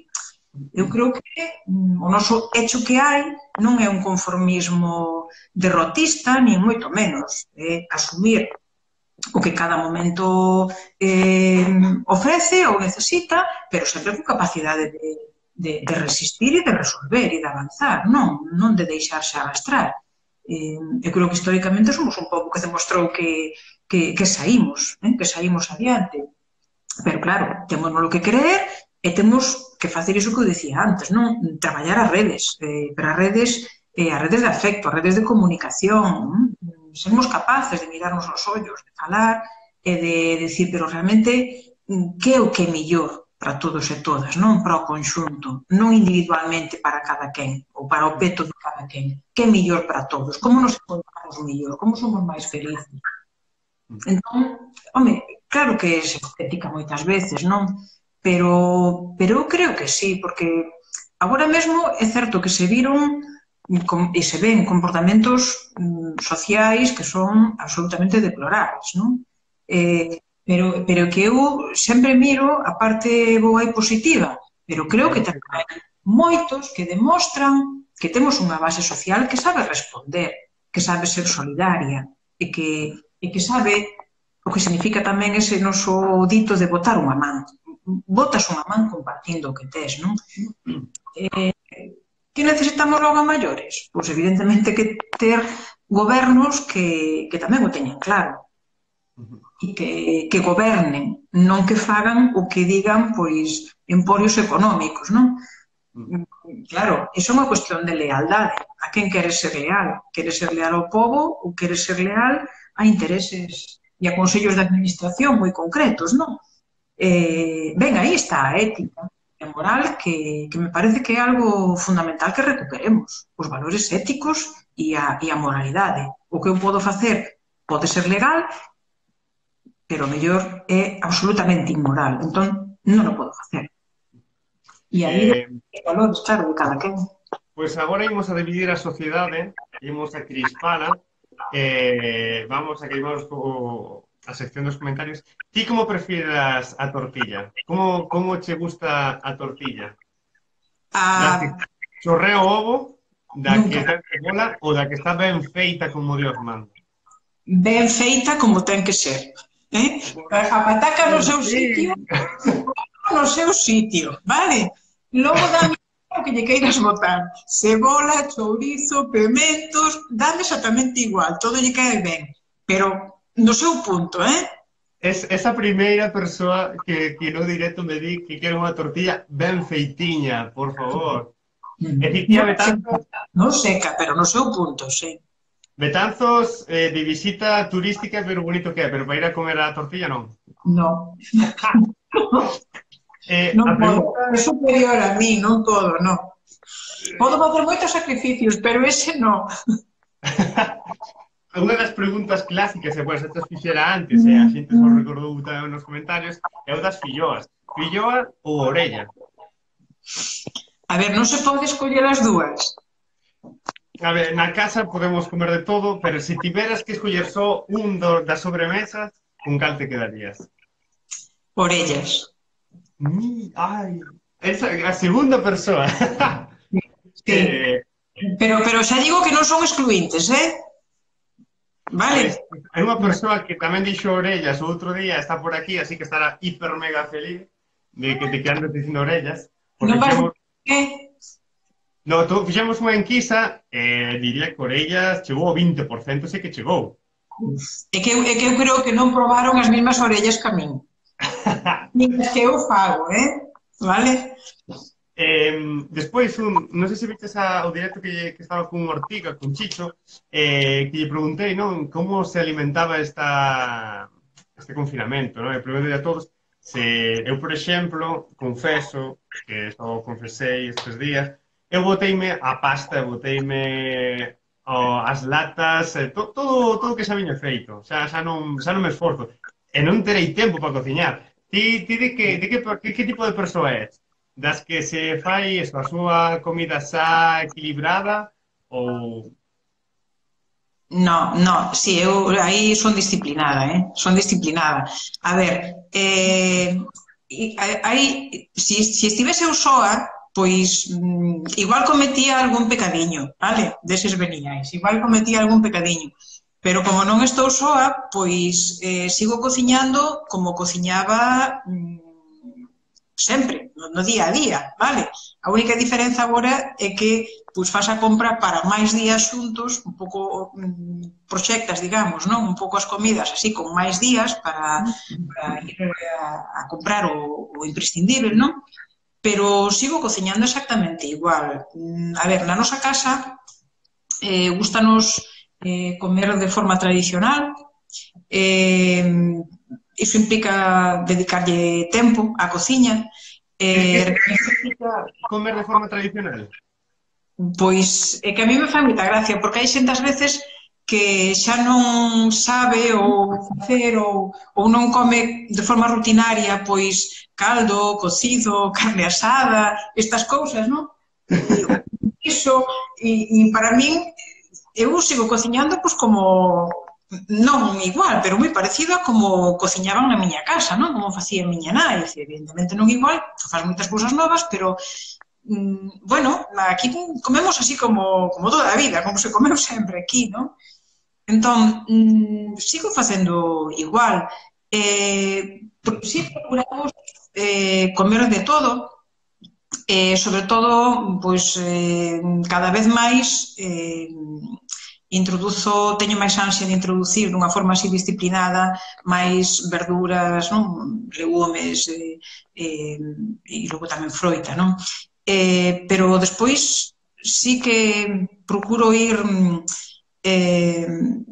Eu creo que o noso hecho que hai non é un conformismo derrotista, ni moito menos. É asumir o que cada momento eh, ofrece ou necesita, pero sempre con capacidade de, de, de resistir e de resolver e de avanzar, non, non de deixarse arrastrar. Eh, eu creo que históricamente somos un pouco que demostrou que, que, que saímos, eh, que saímos adiante. Pero claro, temos no que creer e temos que facer iso que eu dicía antes, non? Traballar as redes, eh, pero as redes, eh, as redes de afecto, as redes de comunicación, non? Sermos capaces de mirarnos nos ollos, de falar e de decir, pero realmente, que é o que é mellor para todos e todas, non para o conxunto, non individualmente para cada quen, ou para o peto de cada quen, que é mellor para todos, como nos encontramos mellor, como somos máis felices. Entón, home, claro que é hipotética moitas veces, non? Pero, pero eu creo que sí, porque agora mesmo é certo que se viron e se ven comportamentos sociais que son absolutamente deplorables, non? Eh, pero, pero que eu sempre miro a parte boa e positiva, pero creo que tamén hai moitos que demostran que temos unha base social que sabe responder, que sabe ser solidaria e que, e que sabe o que significa tamén ese noso dito de botar unha man. Botas unha man compartindo o que tes, non? Eh, que necesitamos logo a maiores? Pois evidentemente que ter gobernos que, que tamén o teñan claro e que, que gobernen, non que fagan o que digan pois emporios económicos, non? Claro, iso é unha cuestión de lealdade. A quen quere ser leal? Quere ser leal ao pobo ou quere ser leal a intereses e a consellos de administración moi concretos, non? Eh, ben, aí está a ética e a moral que, que me parece que é algo fundamental que recuperemos. Os valores éticos e a, e a moralidade. O que eu podo facer pode ser legal, pero o mellor é absolutamente inmoral. Entón, non o podo facer. E aí, eh, os valores, claro, de cada quen. Pois agora imos a dividir a sociedade, imos a crispala, eh, vamos a que imos o... a sección dos comentarios. Ti como prefieras a tortilla? Como, como che gusta a tortilla? Da que chorrea o ovo, da nunca. Que ten cebola ou da que está ben feita como Dios manda? Ben feita como ten que ser. Eh? A pataca no seu sitio, no seu sitio, vale? Logo dame o que lle queiras botar. Cebola, chourizo, pimentos, dame exactamente igual, todo lle cae ben. Pero no seu punto, eh? Es esa primeira persoa que, que no directo me di que quero unha tortilla ben feitiña, por favor. Mm. E dicía Betanzos... Non seca, pero no seu punto, sí. Betanzos eh, de visita turística, pero bonito que é, pero para ir a comer a tortilla non. No. eh, non a podo, pregunta... é superior a mí, non todo, non. Podo facer moitos sacrificios, pero ese non. Unha das preguntas clásicas, e pois, esta fixera antes, e a xente só recordou tamén nos comentarios, é o das filloas. Filloa ou orella? A ver, non se pode escoller as dúas. A ver, na casa podemos comer de todo, pero se tiveras que escoller só un do, das sobremesas, con cal te quedarías? Orellas. Mi, ai, esa, a segunda persoa. Sí. eh... Pero, pero xa digo que non son excluintes, eh? vale? Hai unha persoa que tamén dixo orellas o outro día, está por aquí, así que estará hiper mega feliz de que, de que andes dicindo orellas, porque Non vas a... fixemos, Que? no, tú, fixemos unha enquisa e eh, diría que orellas chegou ao vinte por cento, sei que chegou. É que, é que eu creo que non probaron as mesmas orellas que a min. Nin as que eu fago, eh? Vale? Eh, despois, un, non sei se viches a, o directo que, que estaba con Ortiga, con Chicho, eh, que lle preguntei, non, como se alimentaba esta, este confinamento, non? E preguntei a todos se eu, por exemplo, confeso, que só confesei estes días, eu boteime a pasta, boteime oh, as latas, eh, to, todo, todo o que xa viña feito, xa, xa, non, xa non me esforzo, e non terei tempo para cociñar. Ti, ti de que, de que, que, que tipo de persoa és? Das que se fai eso, a súa comida xa equilibrada ou... No, no, sí, eu aí son disciplinada, eh? Son disciplinada. A ver, eh, aí, si, si estivese eu soa, pois mm, igual cometía algún pecadiño, vale? Deses veniais, igual cometía algún pecadiño. Pero como non estou soa, pois eh, sigo cociñando como cociñaba mm, sempre, no, no día a día, vale? A única diferenza agora é que pois faz a compra para máis días xuntos, un pouco mm, proxectas, digamos, non? Un pouco as comidas así con máis días para, para ir a, a comprar o, o imprescindible, non? Pero sigo cociñando exactamente igual. Mm, a ver, na nosa casa eh, gustanos eh, comer de forma tradicional, eh, iso implica dedicarlle tempo á cociña. Que, Eh, que significa comer de forma tradicional? Pois é que a mí me fai moita gracia, porque hai xente ás veces que xa non sabe ou facer ou, ou non come de forma rutinaria, pois caldo, cocido, carne asada, estas cousas, non? E iso, e, e para min, eu sigo cociñando pois como non igual, pero moi parecido a como cociñaban na miña casa, non? Como facía a miña nai, evidentemente non igual, faz moitas cousas novas, pero mm, bueno, aquí comemos así como, como toda a vida, como se comeu sempre aquí, non? Entón, mm, sigo facendo igual. Eh, si procuramos eh, comer de todo, eh, sobre todo, pois, eh, cada vez máis eh, introduzo, teño máis ansia de introducir dunha forma así disciplinada máis verduras, non? Legumes eh, eh, e logo tamén froita, non? Eh, pero despois sí que procuro ir eh,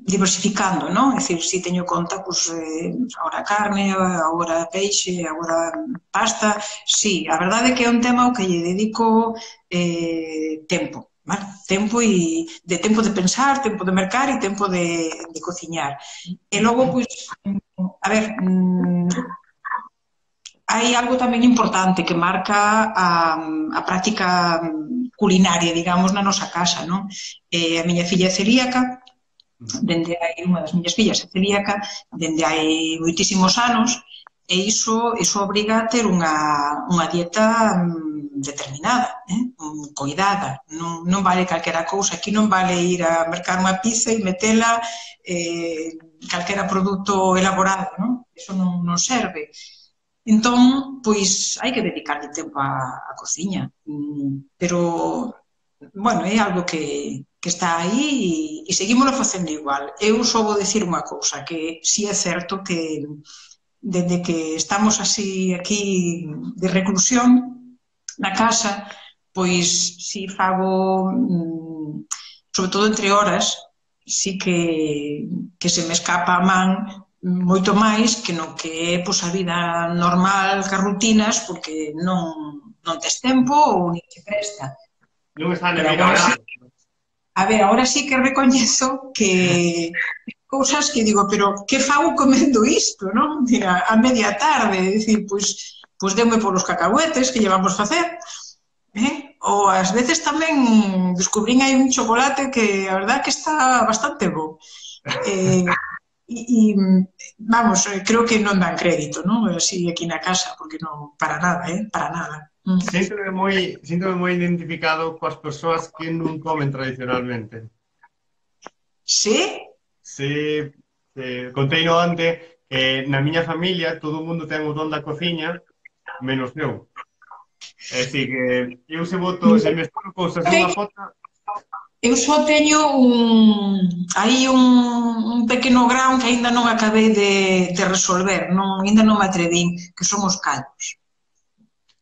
diversificando, non? É dicir, si teño conta, pois, eh, agora carne, agora peixe, agora pasta, sí, a verdade é que é un tema ao que lle dedico eh, tempo, vale? Tempo e de tempo de pensar, tempo de mercar e tempo de, de cociñar. E logo, pois, a ver, mm, hai algo tamén importante que marca a, a práctica culinaria, digamos, na nosa casa, non? Eh, a miña filla é celíaca, dende hai, unha das miñas fillas é celíaca, dende hai moitísimos anos, e iso, iso obriga a ter unha, unha dieta um, determinada, eh? um, coidada, non, non vale calquera cousa, aquí non vale ir a mercar unha pizza e metela eh, calquera produto elaborado, non? Iso non, non serve. Entón, pois, hai que dedicarle tempo á, á cociña, pero, bueno, é algo que, que está aí e, e seguímoslo facendo igual. Eu só vou dicir unha cousa, que si é certo que dende que estamos así aquí de reclusión na casa, pois si fago, sobre todo entre horas, si que, que se me escapa a man moito máis que no que é pois, a vida normal, que as rutinas, porque non, non tes tempo ou nin te presta. Non está na vida agora. A ver, agora sí que recoñezo que cousas que digo, pero que fago comendo isto, non? Mira, a media tarde, dicir, pois, pois deume polos cacahuetes que llevamos facer, eh? Ou ás veces tamén descubrín aí un chocolate que a verdad que está bastante bo. Eh, E, e, vamos, creo que non dan crédito, non? Así aquí na casa, porque non, para nada, eh? Para nada. Mm. Síntome moi, síntome moi identificado coas persoas que non comen tradicionalmente. Sí? Sí, eh, conteino onte que na miña familia todo o mundo ten o don da cociña, menos eu. É dicir, que eu se boto, se mesturo cousas nunha pota, Eu só teño un, aí un, un pequeno grao que aínda non acabei de, de resolver, non, aínda non me atrevín, que son os callos.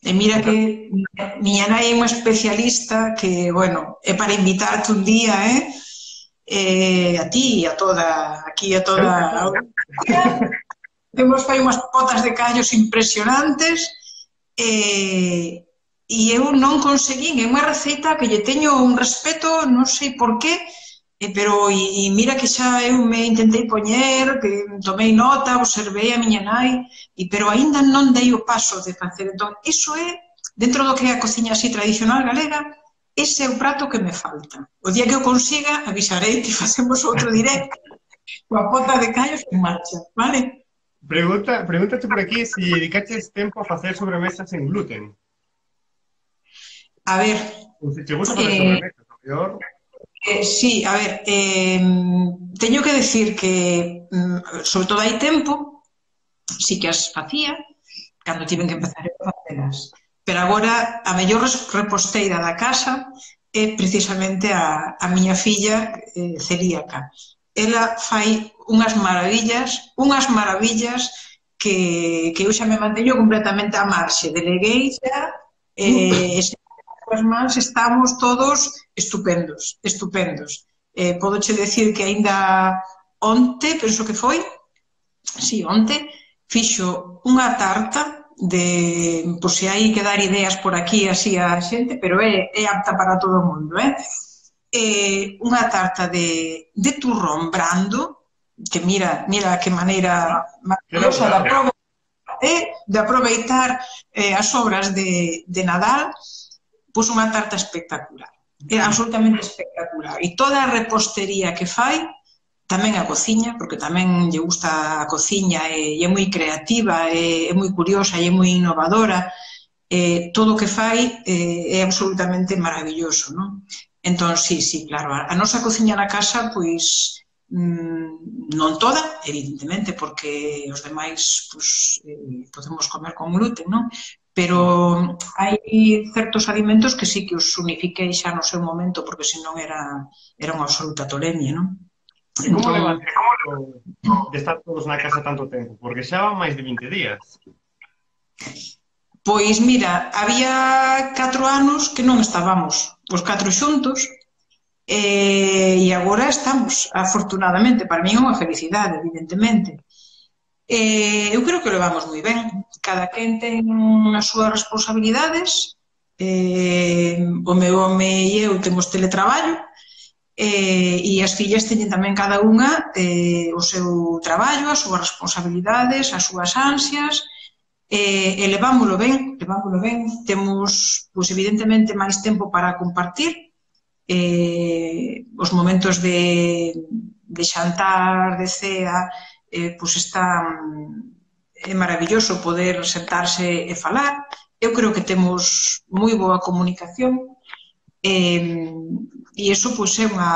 E mira o que ca- miña nai é unha especialista que, bueno, é para invitarte un día, eh? Eh, a ti e a toda, aquí a toda claro que a sí. audiencia. Temos fai unhas potas de callos impresionantes e, e eu non conseguín, é unha receita que lle teño un respeto, non sei por qué, eh, pero e, e mira que xa eu me intentei poñer, que tomei nota, observei a miña nai, e, pero aínda non dei o paso de facer. Entón, iso é, dentro do que é a cociña así tradicional galega, ese é o prato que me falta. O día que eu consiga, avisarei que facemos outro directo coa pota de callos en marcha, vale? Pregunta, pregúntate por aquí si dedicaches tempo a facer sobremesas sen gluten. A ver, Ou se che gusta facer eh, sobremesas, o peor. Eh, sí, a ver, eh, teño que decir que, mm, sobre todo hai tempo, sí que as facía, cando tiven que empezar a facelas. Pero agora, a mellor res- reposteira da casa é precisamente a, a miña filla eh, celíaca. Ela fai unhas maravillas, unhas maravillas que, que eu xa me manteño completamente á marxe. Deleguei xa, eh, e as mans estamos todos estupendos, estupendos. Eh, podoche decir que aínda onte, penso que foi, si, onte, fixo unha tarta de, pois se hai que dar ideas por aquí así a xente, pero é, é apta para todo o mundo, eh? Eh, unha tarta de, de turrón brando, que mira, mira que maneira Que maravillosa de, elaborado. aprove eh, de aproveitar eh, as obras de, de Nadal, pois unha tarta espectacular. É absolutamente espectacular. E toda a repostería que fai, tamén a cociña, porque tamén lle gusta a cociña e, e é moi creativa, e é moi curiosa e é moi innovadora, eh, todo o que fai eh, é absolutamente maravilloso, non? Entón, sí, sí, claro, a, a nosa cociña na casa, pois, mmm, non toda, evidentemente, porque os demais, pois, eh, podemos comer con gluten, non? Pero hai certos alimentos que sí que os unifiquei xa no seu momento, porque senón era, era unha absoluta tolemia, non? E como Entón, levas de estar todos na casa tanto tempo? Porque xa van máis de vinte días. pois mira, había catro anos que non estábamos os catro xuntos, e, e agora estamos, afortunadamente, para min é unha felicidade, evidentemente. Eh, eu creo que o levamos moi ben. Cada quen ten as súas responsabilidades. Eh, o meu home e eu temos teletraballo, eh, e as fillas teñen tamén cada unha eh, o seu traballo, as súas responsabilidades, as súas ansias, eh, e levámoslo ben, levámoslo ben. Temos, pois, evidentemente, máis tempo para compartir, eh, os momentos de, de xantar, de cea, eh, pois están, é maravilloso poder sentarse e falar. Eu creo que temos moi boa comunicación, e, e iso pois é unha,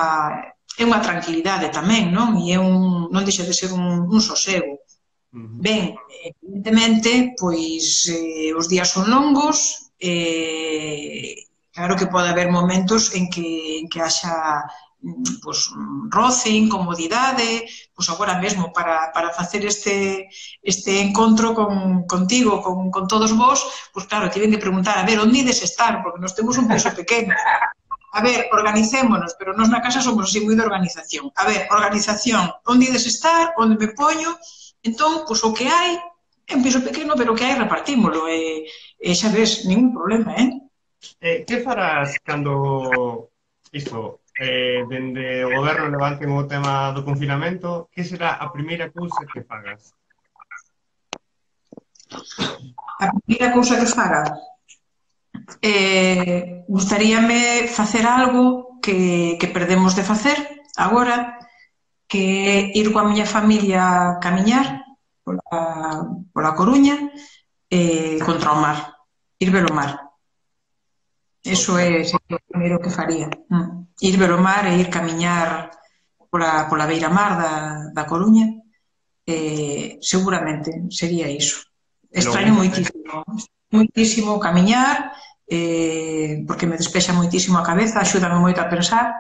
é unha tranquilidade tamén, non? E é un, non deixa de ser un, un sosego. Uh -huh. Ben, evidentemente, pois eh, os días son longos, e claro que pode haber momentos en que, en que haxa pois, roce, incomodidade, pois agora mesmo para, para facer este, este encontro con, contigo, con, con todos vos, pois claro, tiven que preguntar, a ver, onde ides estar, porque nós temos un piso pequeno. A ver, organicémonos, pero nós na casa somos así moi de organización. A ver, organización, onde ides estar, onde me poño. Entón, pois o que hai é un piso pequeno, pero o que hai repartímolo, e, e xa ves, ningún problema, eh? Eh, que farás cando isto, eh, dende o goberno levanten o tema do confinamento? Que será a primeira cousa que fagas? A primeira cousa que faga, eh, gustaríame facer algo que, que perdemos de facer agora, que é ir coa miña familia a camiñar pola, pola Coruña, eh, contra o mar, ir ver o mar. Eso é o primeiro que faría. Mm. Ir ver o mar e ir camiñar pola, pola beira-mar da, da Coruña, eh, seguramente sería iso. Extraño moitísimo, moitísimo camiñar, eh, porque me despexa moitísimo a cabeza, axúdame moito a pensar,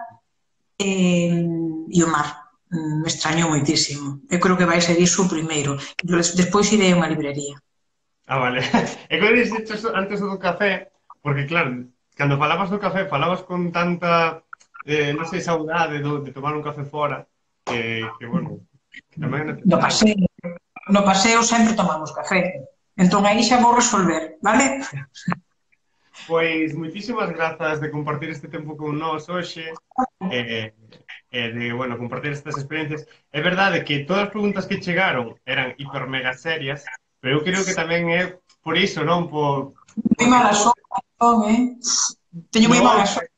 eh, e o mar, me extraño moitísimo. Eu creo que vai ser iso o primeiro. Despois irei a unha librería. Ah, vale. E quando dixeches antes do café, porque claro, cando falabas do café, falabas con tanta, eh, non sei, saudade do, de tomar un café fora, que, que bueno, que tamén é No necesario. paseo, no paseo sempre tomamos café. Entón aí xa vou resolver, vale? Pois, moitísimas grazas de compartir este tempo con nós hoxe, e, e de, bueno, compartir estas experiencias. É verdade que todas as preguntas que chegaron eran hiper mega serias, pero eu creo que tamén é por iso, non? Por, Moi mala sorte, non, eh? Teño moi no, mala sorte.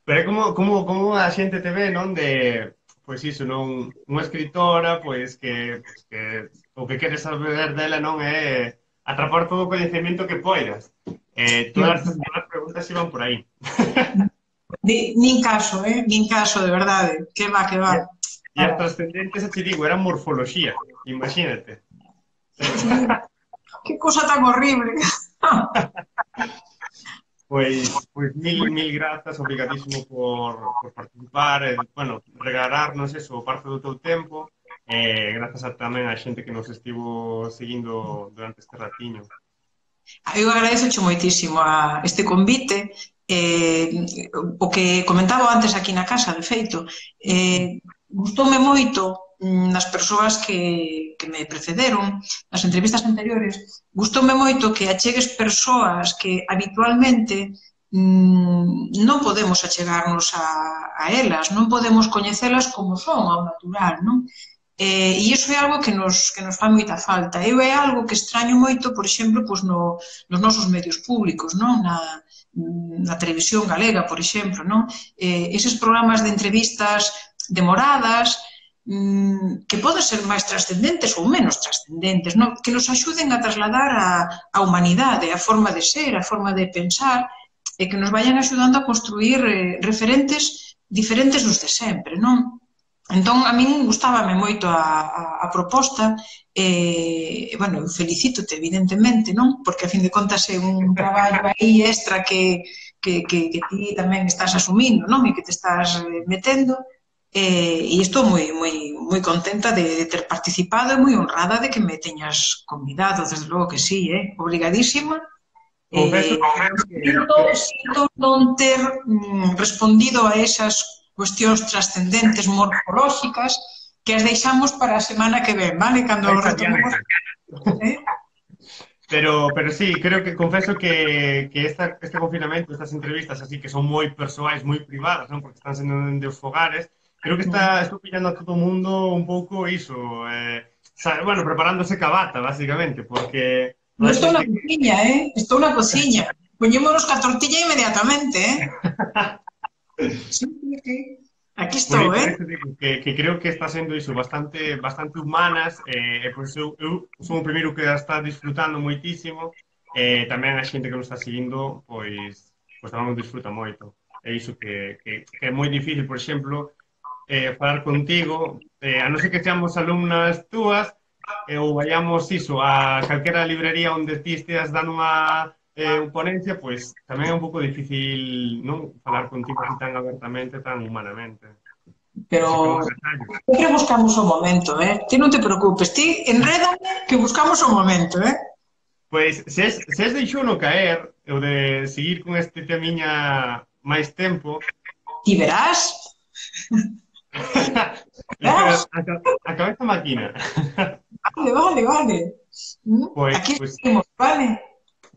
pero é como, como, como a xente te ve, non? De, pois iso, non? Unha escritora, pois que, pois, que o que queres saber dela non é atrapar todo o coñecemento que poidas. Eh, todas, todas as preguntas iban por aí. Ni, nin caso, eh? Nin caso, de verdade. Que va, que va. E as trascendentes, xa te digo, eran morfología. Imagínate. Que cosa tan horrible. Pois, pois mil, mil grazas, obrigadísimo por, por participar, e, bueno, regalarnos eso, parte do teu tempo, e grazas a, tamén a xente que nos estivo seguindo durante este ratiño. Eu agradezoche moitísimo a este convite, eh, o que comentaba antes aquí na casa, de feito, eh, gustoume moito nas persoas que, que me precederon, nas entrevistas anteriores, gustoume moito que achegues persoas que habitualmente mmm, non podemos achegarnos a, a elas, non podemos coñecelas como son, ao natural, non? Eh, e iso é algo que nos, que nos fai moita falta. Eu é algo que extraño moito, por exemplo, pois no, nos nosos medios públicos, non? Na, na televisión galega, por exemplo, non? Eh, eses programas de entrevistas demoradas, mmm, que poden ser máis trascendentes ou menos trascendentes, non? Que nos axuden a trasladar a, a humanidade, a forma de ser, a forma de pensar, e que nos vayan axudando a construir eh, referentes diferentes dos de sempre, non? Entón, a min gustábame moito a, a, a proposta e, eh, bueno, felicítote, evidentemente, non? Porque, a fin de contas, é un traballo aí extra que, que, que, que ti tamén estás asumindo, non? E que te estás metendo. E, e estou moi, moi, moi contenta de, de ter participado e moi honrada de que me teñas convidado, desde logo que sí, eh? Obrigadísima. Confeso que... Sinto, sinto non ter mm, respondido a esas cuestións trascendentes morfolóxicas que as deixamos para a semana que ven, vale? Cando retomemos... ¿Eh? Pero, pero sí, creo que confeso que, que esta, este confinamento, estas entrevistas así que son moi persoais, moi privadas, non? Porque están sendo de os fogares, creo que está, estou pillando a todo o mundo un pouco iso, eh, bueno, preparándose cabata, básicamente, porque... Non estou na cociña, eh? Estou na cociña. Poñémonos ca tortilla inmediatamente, eh? Sí, sí, sí. Aquí estou, por eh? Por digo que, que creo que está sendo iso bastante bastante humanas, e eh, pois eu, eu son o primeiro que a está disfrutando moitísimo, e eh, tamén a xente que nos está seguindo, pois, pois tamén disfruta moito. É iso que, que, que é moi difícil, por exemplo, eh, falar contigo, eh, a non ser que seamos alumnas túas, eh, ou vayamos iso a calquera librería onde ti esteas dando unha eh, ponencia, pois tamén é un pouco difícil non falar contigo así tan abertamente, tan humanamente. Pero sempre buscamos o momento, eh? Ti non te preocupes, ti enrédame que buscamos o momento, eh? Pois, se es, se es deixou no caer, ou de seguir con este temiña máis tempo... Ti verás... verás? A, a cabeza máquina. Vale, vale, vale. Pois, aquí pois, estamos, vale?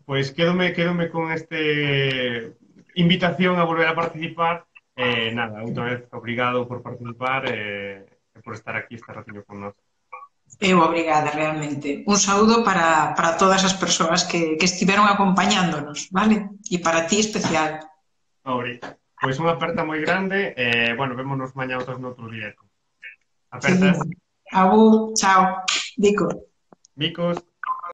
Pois quédome, quédome con este invitación a volver a participar. Eh, nada, outra vez, obrigado por participar e eh, por estar aquí este ratinho con nós. Eu obrigada, realmente. Un saúdo para, para todas as persoas que, que estiveron acompañándonos, vale? E para ti especial. Obrigado. Pois unha aperta moi grande e, eh, bueno, vémonos mañá outros noutro directo. Apertas. Sí. Abu, chao. Dico. Micos.